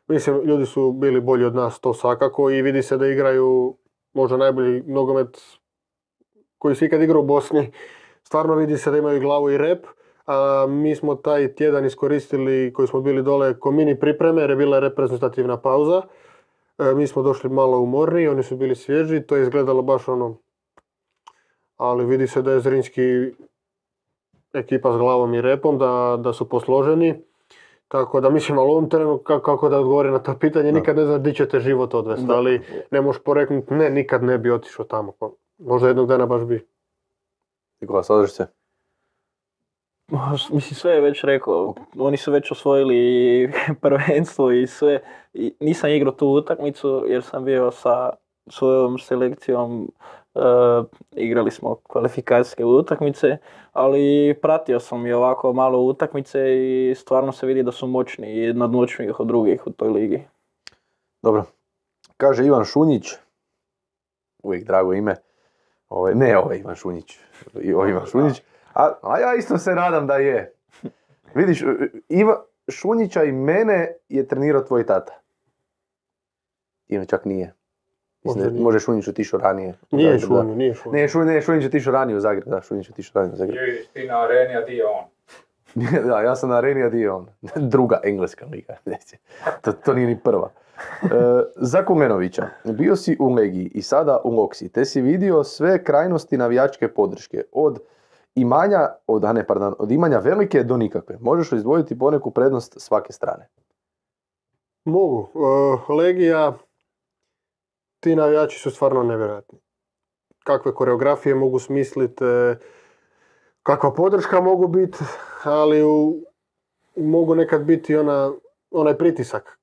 Mislim, ljudi su bili bolji od nas, to svakako, i vidi se da igraju možda najbolji nogomet koji se ikad igrao u Bosni. Stvarno vidi se da imaju glavu i rep. A mi smo taj tjedan iskoristili, koji smo bili dole, ko mini pripreme jer je bila reprezentativna pauza. Mi smo došli malo umorniji, oni su bili svježi, to je izgledalo baš ono, ali vidi se da je Zrinski ekipa s glavom i repom, da su posloženi. Tako da mislim, ali u ovom trenu, kako da odgovori na to pitanje, nikad ne znaš di će te život odvesti, ali ne možeš poreknuti, ne, nikad ne bi otišao tamo. Možda jednog dana baš bi. Nikola, slažeš se? Mislim, sve je već rekao, oni su već osvojili prvenstvo i sve. I nisam igrao tu utakmicu jer sam bio sa svojom selekcijom, igrali smo kvalifikacijske utakmice, ali pratio sam i ovako malo utakmice i stvarno se vidi da su moćni i nadmoćniji od drugih u toj ligi. Dobro. Kaže Ivan Šunjić, uvijek drago ime, Ivan Šunjić, Ivan Šunjić. A ja isto se nadam da je. Vidiš, Šunjića i mene je trenirao tvoj tata. Ili čak nije. Može Šunjić otišao ranije. Nije Šunjić. Ne, Šunjić otišao ranije u Zagreb. Da, Šunjić otišao ranije u Zagreb. Vidiš ti na areni, a di je on? Da, ja sam na areni, a di je on. Druga engleska liga. To nije ni prva. Za Kulenovića, bio si u Legiji i sada u Loksi, te si vidio sve krajnosti navijačke podrške, od imanja velike do nikakve. Možeš li izdvojiti poneku prednost svake strane? Mogu. Legija, ti navijači su stvarno nevjerojatni. Kakve koreografije mogu smisliti, kakva podrška mogu biti, ali mogu nekad biti onaj pritisak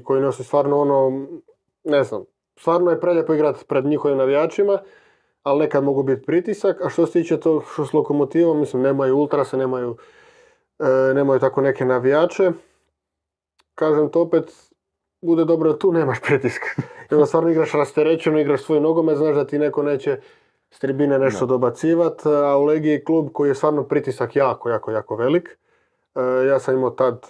koji nosi stvarno ne znam, stvarno je prelijepo igrati pred njihovim navijačima, ali nekad mogu biti pritisak. A što se tiče to što s Lokomotivom, mislim, nemaju ultrase, nemaju tako neke navijače. Kažem to opet, bude dobro da tu nemaš pritiska. I onda stvarno igraš rasterećeno, igraš svoj nogomet, znaš da ti neko neće s tribine nešto dobacivati, a u Legiji je klub koji je stvarno pritisak jako velik. Ja sam imao tad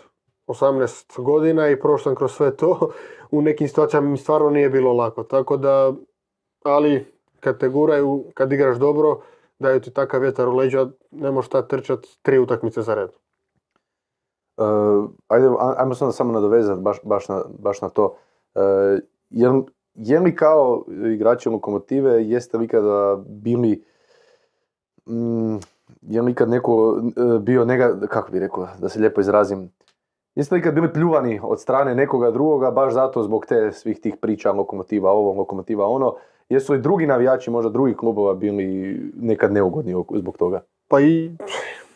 18 godina i prošao sam kroz sve to. U nekim situacijama mi stvarno nije bilo lako. Tako da, ali kad te guraju, kad igraš dobro, daju ti takav vjetar u leđa, ne možeš tad trčati 3 utakmice za red. Ajmo se onda samo nadovezati baš na to. Je li kao igrači Lokomotive, jeste li ikada bili, je li ikad neko bio kako bi rekao, da se lijepo izrazim, jeste li ikad bili pljuvani od strane nekoga drugoga, baš zato zbog svih tih priča Lokomotiva ovo, Lokomotiva ono, jesu li drugi navijači, možda drugih klubova, bili nekad neugodni zbog toga? Pa i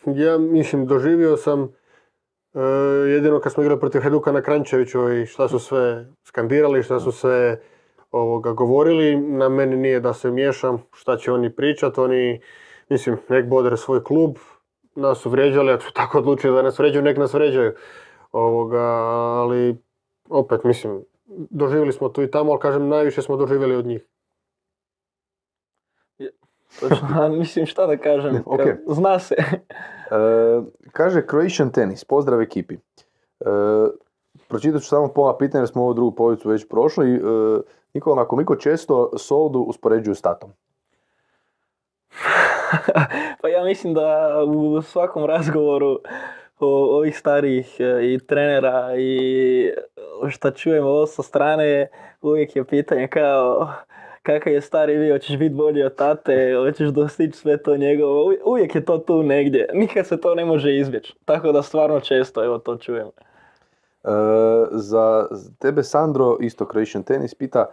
ja mislim, doživio sam jedino kad smo igrali protiv Hajduka na Kranjčeviću i šta su sve skandirali, šta su sve govorili. Na meni nije da se miješam, šta će oni pričati, oni, mislim, nek bodre svoj klub, nas su vrijeđali, ako su tako odlučili da nas vrijeđaju, nek nas vrijeđaju. Ali opet, mislim, doživjeli smo tu i tamo, ali kažem, najviše smo doživjeli od njih. Mislim, šta da kažem, Okay. Zna se. Kaže Croatian Tennis, pozdrav ekipi. Pročitat ću samo pola pitanja jer smo ovu drugu polovicu već prošli. Nikola, koliko često Soldu uspoređuju s tatom? Pa ja mislim da u svakom razgovoru ovih starijih i trenera i šta čujemo ovo sa strane, uvijek je pitanje kao kakav je stari vi, hoćeš biti bolji od tate, hoćeš dostići sve to njegovo, uvijek je to tu negdje, nikad se to ne može izbjeći, tako da stvarno često evo to čujem. Za tebe Sandro, isto Croatian Tennis, pita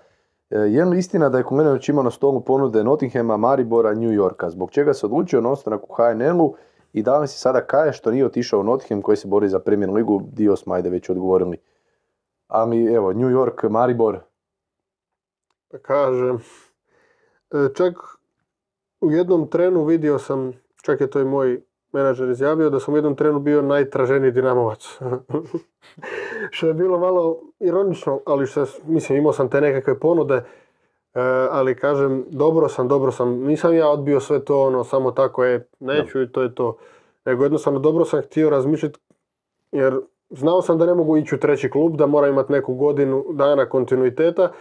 je li istina da je Kulenović imao na stolu ponude Nottinghama, Maribora, New Yorka, zbog čega se odlučio na ostanak u HNL-u I da li si sada kaje što nije otišao u Nottingham koji se bori za Premier ligu, dio smo ajde već odgovorili. A mi, evo, New York, Maribor. Kažem, čak u jednom trenu vidio sam, čak je to i moj menadžer izjavio, da sam u jednom trenu bio najtraženiji Dinamovac. Što je bilo malo ironično, ali mislim, imao sam te nekakve ponude, ali kažem, dobro sam, nisam ja odbio sve to, samo tako neću i to je to. Nego jednostavno dobro sam htio razmišljati, jer znao sam da ne mogu ići u treći klub, da moram imati neku godinu dana kontinuiteta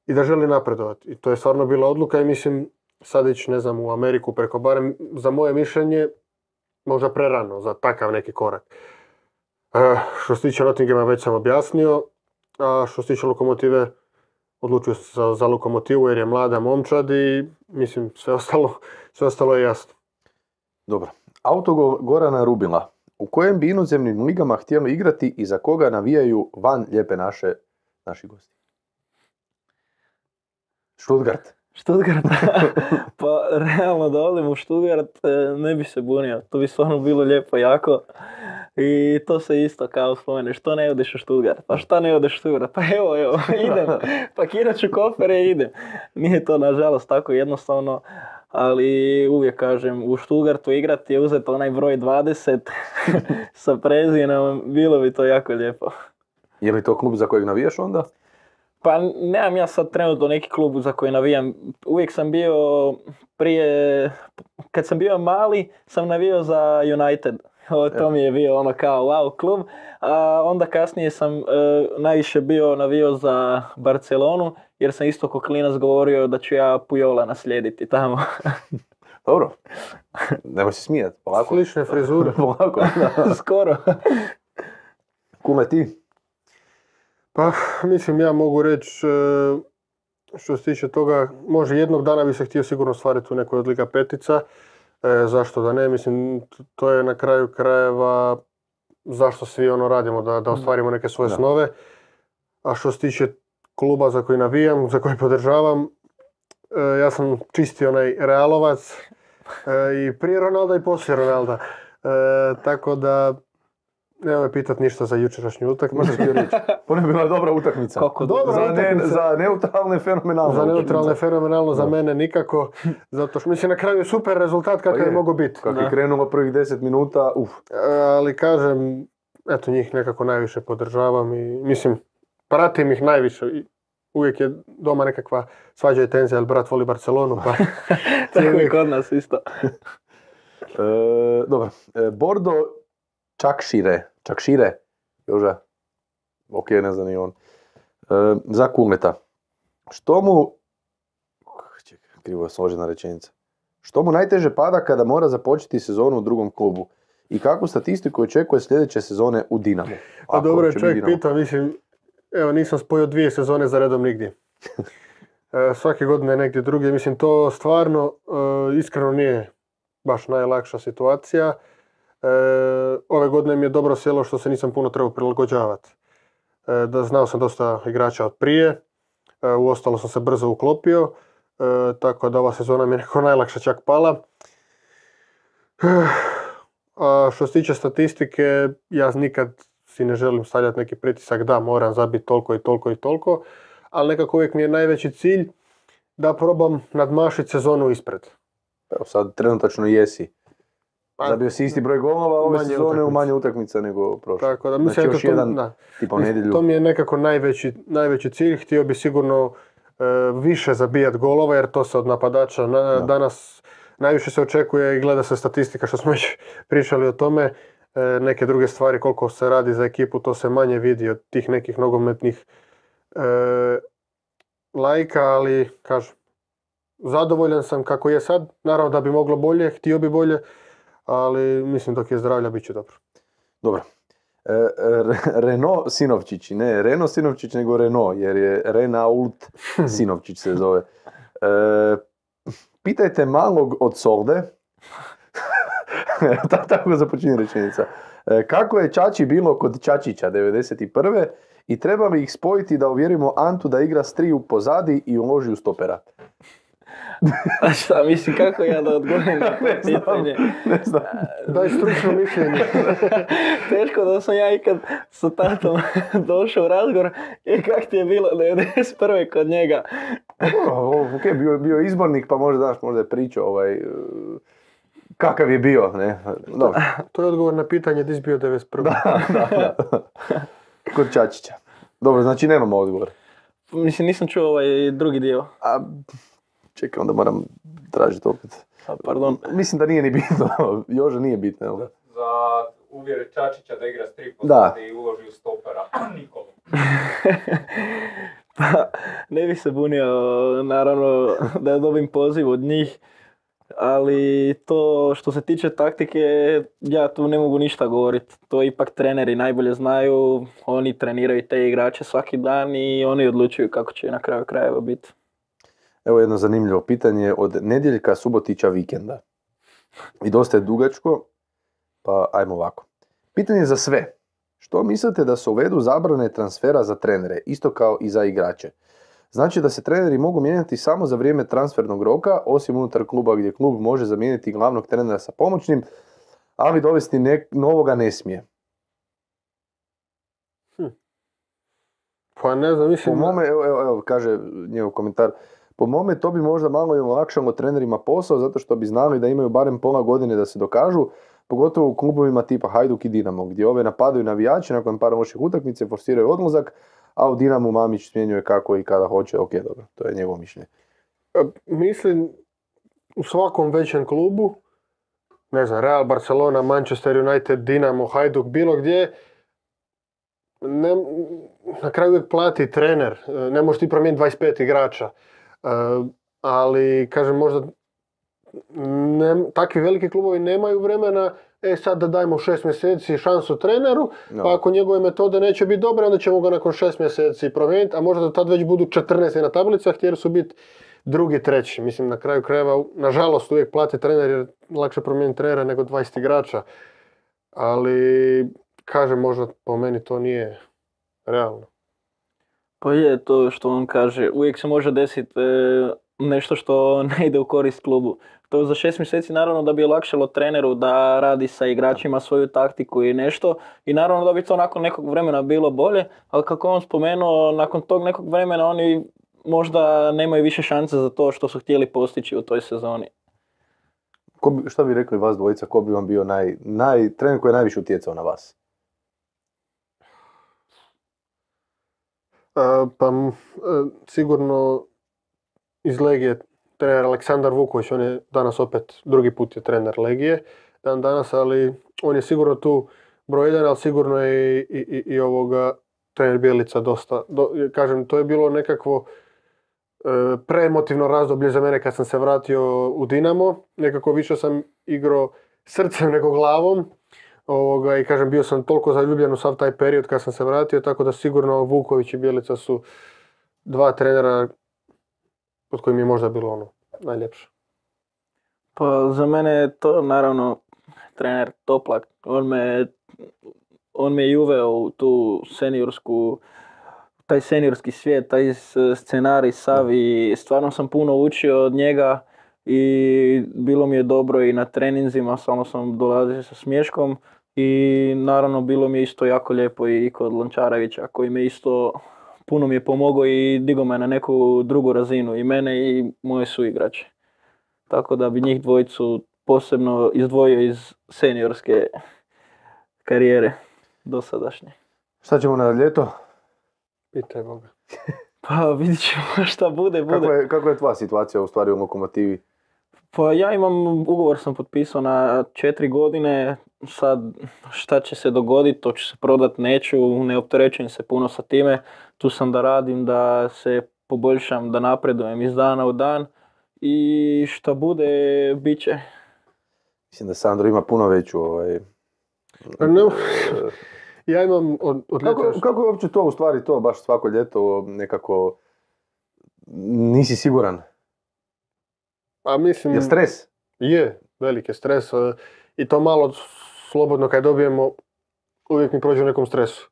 i da želim napredovati. I to je stvarno bila odluka i mislim, sad ići, ne znam, u Ameriku preko, barem za moje mišljenje, možda prerano za takav neki korak. Što se tiče Nottinghama već sam objasnio, a što se tiče Lokomotive, odlučio sam za Lokomotivu jer je mlada momčad i mislim sve ostalo je jasno. Dobro. Autogol Gorana Rubila. U kojem bi inozemnim ligama htjeli igrati i za koga navijaju van lijepe naši gosti? Stuttgart. Pa realno da odem u Stuttgart ne bi se bunio. To bi stvarno bilo lijepo jako. I to se isto kao spomene. Što ne odeš u Stuttgart? Pa šta ne odeš u Stuttgart? Pa evo, idem. Pakirat ću kofere i idem. Nije to nažalost tako jednostavno. Ali uvijek kažem, u Stuttgartu igrati je uzeti onaj broj 20 sa prezinom. Bilo bi to jako lijepo. Je li to klub za kojeg navijaš onda? Pa nemam ja sad trenutno neki klub za koji navijam. Uvijek sam bio prije, kad sam bio mali, sam navijao za United. To mi je bio kao wow klub. A onda kasnije sam najviše navijao za Barcelonu, jer sam isto ko klinac govorio da ću ja Pujola naslijediti tamo. Dobro. Nemoj se smijati. Polako. Slične frizure. Polako. Skoro. Kume ti? Pa, mislim, ja mogu reći, što se tiče toga, može jednog dana bi se htio sigurno stvariti u nekoj od Liga petica. Zašto da ne? Mislim, to je na kraju krajeva zašto svi radimo, da ostvarimo neke svoje snove. A što se tiče kluba za koji navijam, za koji podržavam, ja sam čisti onaj Realovac i prije Ronalda i poslije Ronalda. Tako da nemoj pitat ništa za jučerašnju utakmicu. Ona je bila dobra utakmica. Za neutralne fenomenalno. Za neutralne fenomenalno, za mene nikako. Zato što mislim na kraju je super rezultat kakav je mogao biti. Kako je krenulo prvih 10 minuta, Ali kažem, eto njih nekako najviše podržavam i mislim, pratim ih najviše. Uvijek je doma nekakva svađa i tenzija, jer brat voli Barcelonu. Pa tako je kod nas isto. Dobro. Bordo Čakšire, Joža, ok, ne znam ni on, za Kuleta. Što mu, krivo je složena rečenica, što mu najteže pada kada mora započeti sezonu u drugom klubu i kakvu statistiku očekuje sljedeće sezone u Dinamu? Pa dobro, čovjek pita, mislim, evo nisam spojio 2 sezone za redom nigdje. Svake godine negdje drugdje, mislim to stvarno iskreno nije baš najlakša situacija. Ove godine mi je dobro sjelo što se nisam puno trebao prilagođavati. Znao sam dosta igrača od prije, uostalo sam se brzo uklopio, tako da ova sezona mi je neko najlakša čak pala. A što se tiče statistike, ja nikad si ne želim stavljati neki pritisak da moram zabiti toliko i toliko i toliko, ali nekako uvijek mi je najveći cilj da probam nadmašiti sezonu ispred. Evo sad trenutačno jesi. Zabio si isti broj golova ove sezone u manje utakmica nego prošle. Tako da, mislim, znači još jedan tipa u nedjelju. To mi je nekako najveći cilj. Htio bi sigurno više zabijati golova jer to se od napadača danas najviše se očekuje i gleda se statistika što smo već pričali o tome. Neke druge stvari koliko se radi za ekipu to se manje vidi od tih nekih nogometnih lajka, ali kažem, zadovoljan sam kako je sad. Naravno da bi moglo bolje, htio bi bolje, ali mislim dok je zdravlja bit će dobro. Dobro. Renault Sinovčić, ne Renault Sinovčić nego Renault, jer je Renault Sinovčić se zove. Pitajte malog od Solde, tako započinje rečenica, kako je Čači bilo kod Čačića 91. i treba li ih spojiti da uvjerimo Antu da igra s 3 pozadi i uloži u stopera? A šta, mislim, kako ja da odgovorim na to pitanje? Ne znam. Daj stručno mišljenje. Teško da sam ja ikad sa tatom došao u razgovor. Kak ti je bilo 91. kod njega? Ok, bio je izbornik, pa možda je pričao kakav je bio, ne? Dobro. To je odgovor na pitanje di si bio 91. Da. Kod Čačića. Dobro, znači nemamo odgovor. Mislim, nisam čuo ovaj drugi dio. A, čekaj, onda moram tražiti opet. Pardon. Mislim da nije ni bitno. Jože nije bitno, jel? Za uvjere Čačića da igra s 3 Da. pozadi i uloži u stopera. Nikolu. Pa, ne bih se bunio, naravno, da dobim poziv od njih. Ali to što se tiče taktike, ja tu ne mogu ništa govoriti. To ipak treneri najbolje znaju, oni treniraju te igrače svaki dan i oni odlučuju kako će na kraju krajeva biti. Evo jedno zanimljivo pitanje od Nedjeljka Subotića vikenda. I dosta je dugačko, pa ajmo ovako. Pitanje za sve. Što mislite da se uvedu zabrane transfera za trenere, isto kao i za igrače? Znači da se treneri mogu mijenjati samo za vrijeme transfernog roka, osim unutar kluba gdje klub može zamijeniti glavnog trenera sa pomoćnim, ali dovesti novoga ne smije. Pa ne znam, mislim... Po mome, evo, kaže njegov komentar, po mome to bi možda malo i olakšalo trenerima posao, zato što bi znali da imaju barem pola godine da se dokažu, pogotovo u klubovima tipa Hajduk i Dinamo, gdje ove napadaju navijači nakon par loših utakmice, forsiraju odlazak, a u Dinamu Mamić smjenjuje kako i kada hoće. Ok, dobro, to je njegovo mišljenje. Mislim, u svakom većem klubu, ne znam, Real, Barcelona, Manchester United, Dinamo, Hajduk, bilo gdje, na kraju uvijek plati trener, ne možeš ti promijeniti 25 igrača, ali kažem možda takvi veliki klubovi nemaju vremena, sad da dajmo 6 mjeseci šansu treneru, pa ako njegove metode neće biti dobre, onda ćemo ga nakon 6 mjeseci promijeniti, a možda do tad već budu 14 na tablicah, htjeli su biti drugi, treći. Mislim, na kraju krajeva, nažalost, uvijek plati trener jer lakše promijeniti trenera nego 20 igrača, ali kažem, možda po meni to nije realno. Pa je to što on kaže, uvijek se može desiti nešto što ne ide u korist klubu. To za 6 mjeseci naravno da bi olakšalo treneru da radi sa igračima svoju taktiku i nešto i naravno da bi to nakon nekog vremena bilo bolje, ali kako on spomenuo, nakon tog nekog vremena oni možda nemaju više šanse za to što su htjeli postići u toj sezoni. Šta bi rekli vas dvojica, ko bi vam bio trener koji je najviše utjecao na vas? Sigurno iz Legije trener Aleksandar Vuković, on je danas opet drugi put je trener Legije danas, ali on je sigurno tu broj 1, ali sigurno je i ovoga trener Bjelica dosta. Kažem, to je bilo nekakvo preemotivno razdoblje za mene kad sam se vratio u Dinamo. Nekako više sam igrao srcem nego glavom. I kažem, bio sam toliko zaljubljen u sav taj period kad sam se vratio, tako da sigurno Vuković i Bjelica su dva trenera pod kojim je možda bilo najljepše. Pa za mene je to naravno trener Toplak. On me je uveo u tu taj seniorski svijet, taj scenarij sav i stvarno sam puno učio od njega i bilo mi je dobro i na treninzima, samo sam dolazio sa smješkom i naravno bilo mi je isto jako lijepo i kod Lončarevića koji me isto puno mi je pomogao i digao me na neku drugu razinu i mene i moje suigrače. Tako da bi njih dvojicu posebno izdvojio iz seniorske karijere dosadašnje. Šta ćemo na ljeto? Pitaj Boga. Pa vidit ćemo šta bude. Kako je tvoja situacija u stvari u Lokomotivi? Pa ja ugovor sam potpisao na 4 godine, sad šta će se dogoditi, to ću se prodat, neću, ne opterećujem se puno sa time, tu sam da radim, da se poboljšam, da napredujem iz dana u dan i šta bude, bit će. Mislim da Sandro ima puno veću Ja imam od ljeta... Kako je uopće to u stvari to, baš svako ljeto nekako nisi siguran? A mislim... Je stres? Je, veliki stres i to malo slobodno kad dobijemo uvijek mi prođe u nekom stresu.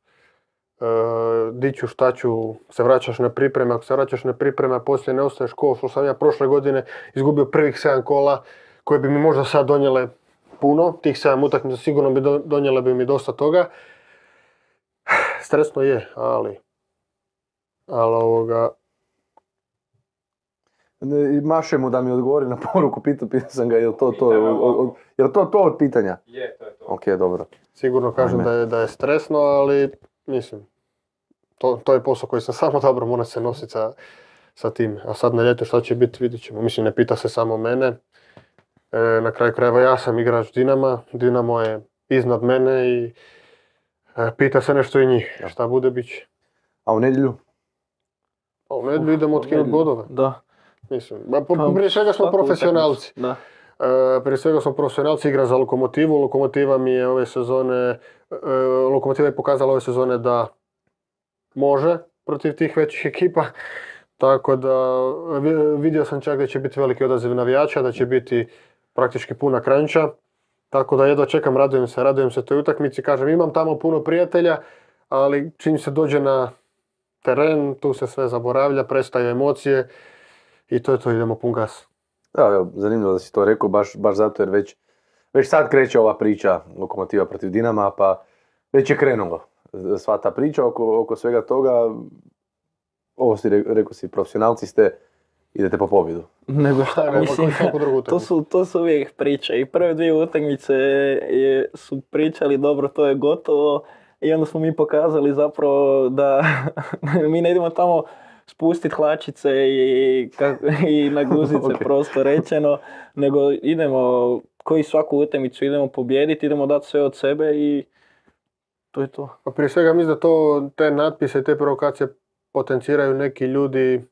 di ću, šta ću, se vraćaš na pripreme, ako se vraćaš na pripreme, a poslije ne ostaješ ko što sam ja prošle godine izgubio prvih 7 kola koje bi mi možda sad donijele puno, tih 7 utakmica sigurno bi donijele bi mi dosta toga. Stresno je, ali Maše mu da mi odgovori na poruku, pitao sam ga, je li to od pitanja? Je, to je to. Ok, dobro. sigurno kažem da je stresno, ali mislim, to je posao koji sam samo dobro, mora se nositi sa tim. A sad na ljeto šta će biti, vidit ćemo. Mislim, ne pita se samo mene. Na kraju krajeva ja sam igrač Dinama, Dinamo je iznad mene i pita se nešto i njih. Šta bude, bit će. A u nedjelju? A u nedjelju idemo otkinuti bodove. Da. Mislim, prije svega smo profesionalci. Da. Prije svega smo profesionalci, igra za Lokomotivu. Lokomotiva je pokazala ove sezone da može protiv tih većih ekipa. Tako da vidio sam čak da će biti veliki odaziv navijača, da će biti praktički puna kranjča. Tako da jedva čekam, radujem se toj utakmici. Kažem, imam tamo puno prijatelja, ali čim se dođe na teren, tu se sve zaboravlja, prestaju emocije i to je to, idemo pun gas. Evo, zanimljivo da si to rekao, baš zato jer već sad kreće ova priča Lokomotiva protiv Dinama, pa već je krenulo sva ta priča oko svega toga. Ovo rekao si, profesionalci ste, idete po pobjedu. Nego šta, mislim, to su uvijek priče. I prve 2 utakmice su pričali dobro, to je gotovo. I onda smo mi pokazali zapravo da mi ne idemo tamo spustiti hlačice i na guzice okay. Prosto rečeno, nego idemo koji svaku utakmicu idemo pobijediti, idemo dati sve od sebe i to je to. Pa prije svega mislim da te natpise i te provokacije potenciraju neki ljudi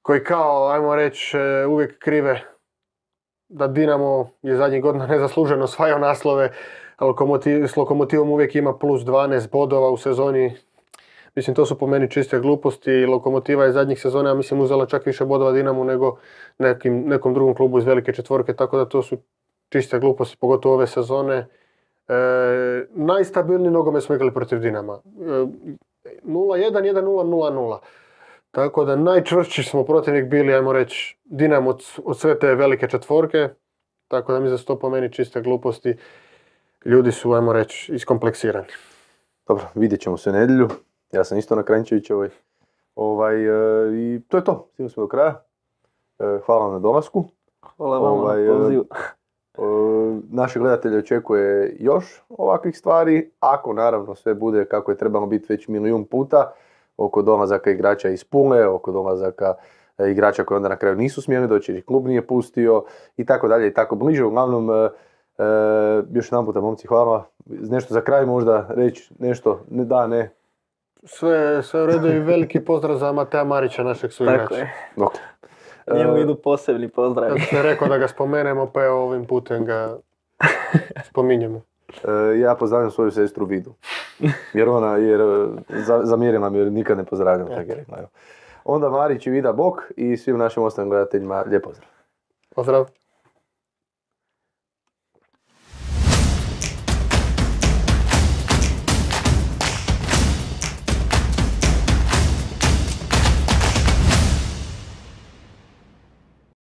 koji kao, ajmo reći, uvijek krive da Dinamo je zadnjih godina nezasluženo osvajao naslove, s Lokomotivom uvijek ima plus 12 bodova u sezoni. Mislim, to su po meni čiste gluposti. Lokomotiva je zadnjih sezona, ja mislim, uzela čak više bodova Dinamu nego nekom drugom klubu iz velike četvorke, tako da to su čiste gluposti, pogotovo ove sezone. Najstabilniji nogomet smo igrali protiv Dinama. 0-1, 1-0, 0-0. Tako da najčvršći smo protivnik bili, ajmo reći, Dinamo od sve te velike četvorke. Tako da mi za to po meni čiste gluposti. Ljudi su, ajmo reći, iskompleksirani. Dobro, vidjet ćemo se u nedjelju. Ja sam isto na Kranjčevićevoj. I to je to. Stigli smo do kraja. Hvala vam na dolasku. Hvala vam na pozivu. Naše gledatelje očekuje još ovakvih stvari, ako naravno sve bude kako je trebalo biti već milijun puta, oko dolazaka igrača iz Pule, oko dolazaka igrača koji onda na kraju nisu smjeli doći jer ih klub nije pustio i tako dalje i tako bliže. Uglavnom, još jedan puta, momci, hvala. Nešto za kraj možda reći, nešto, ne. Sve u redu i veliki pozdrav za Mateja Marića, našeg suigrača. Tako je. Okay. Njemu idu posebni pozdravi. Ja sam rekao da ga spomenemo, pa evo ovim putem ga spominjemo. Ja pozdravljam svoju sestru Vidu. Jer zamjerila mi jer nikad ne pozdravljam. Tako je rekla. Onda Marić i Vida bok i svim našim ostalim gledateljima lijep pozdrav. Pozdrav.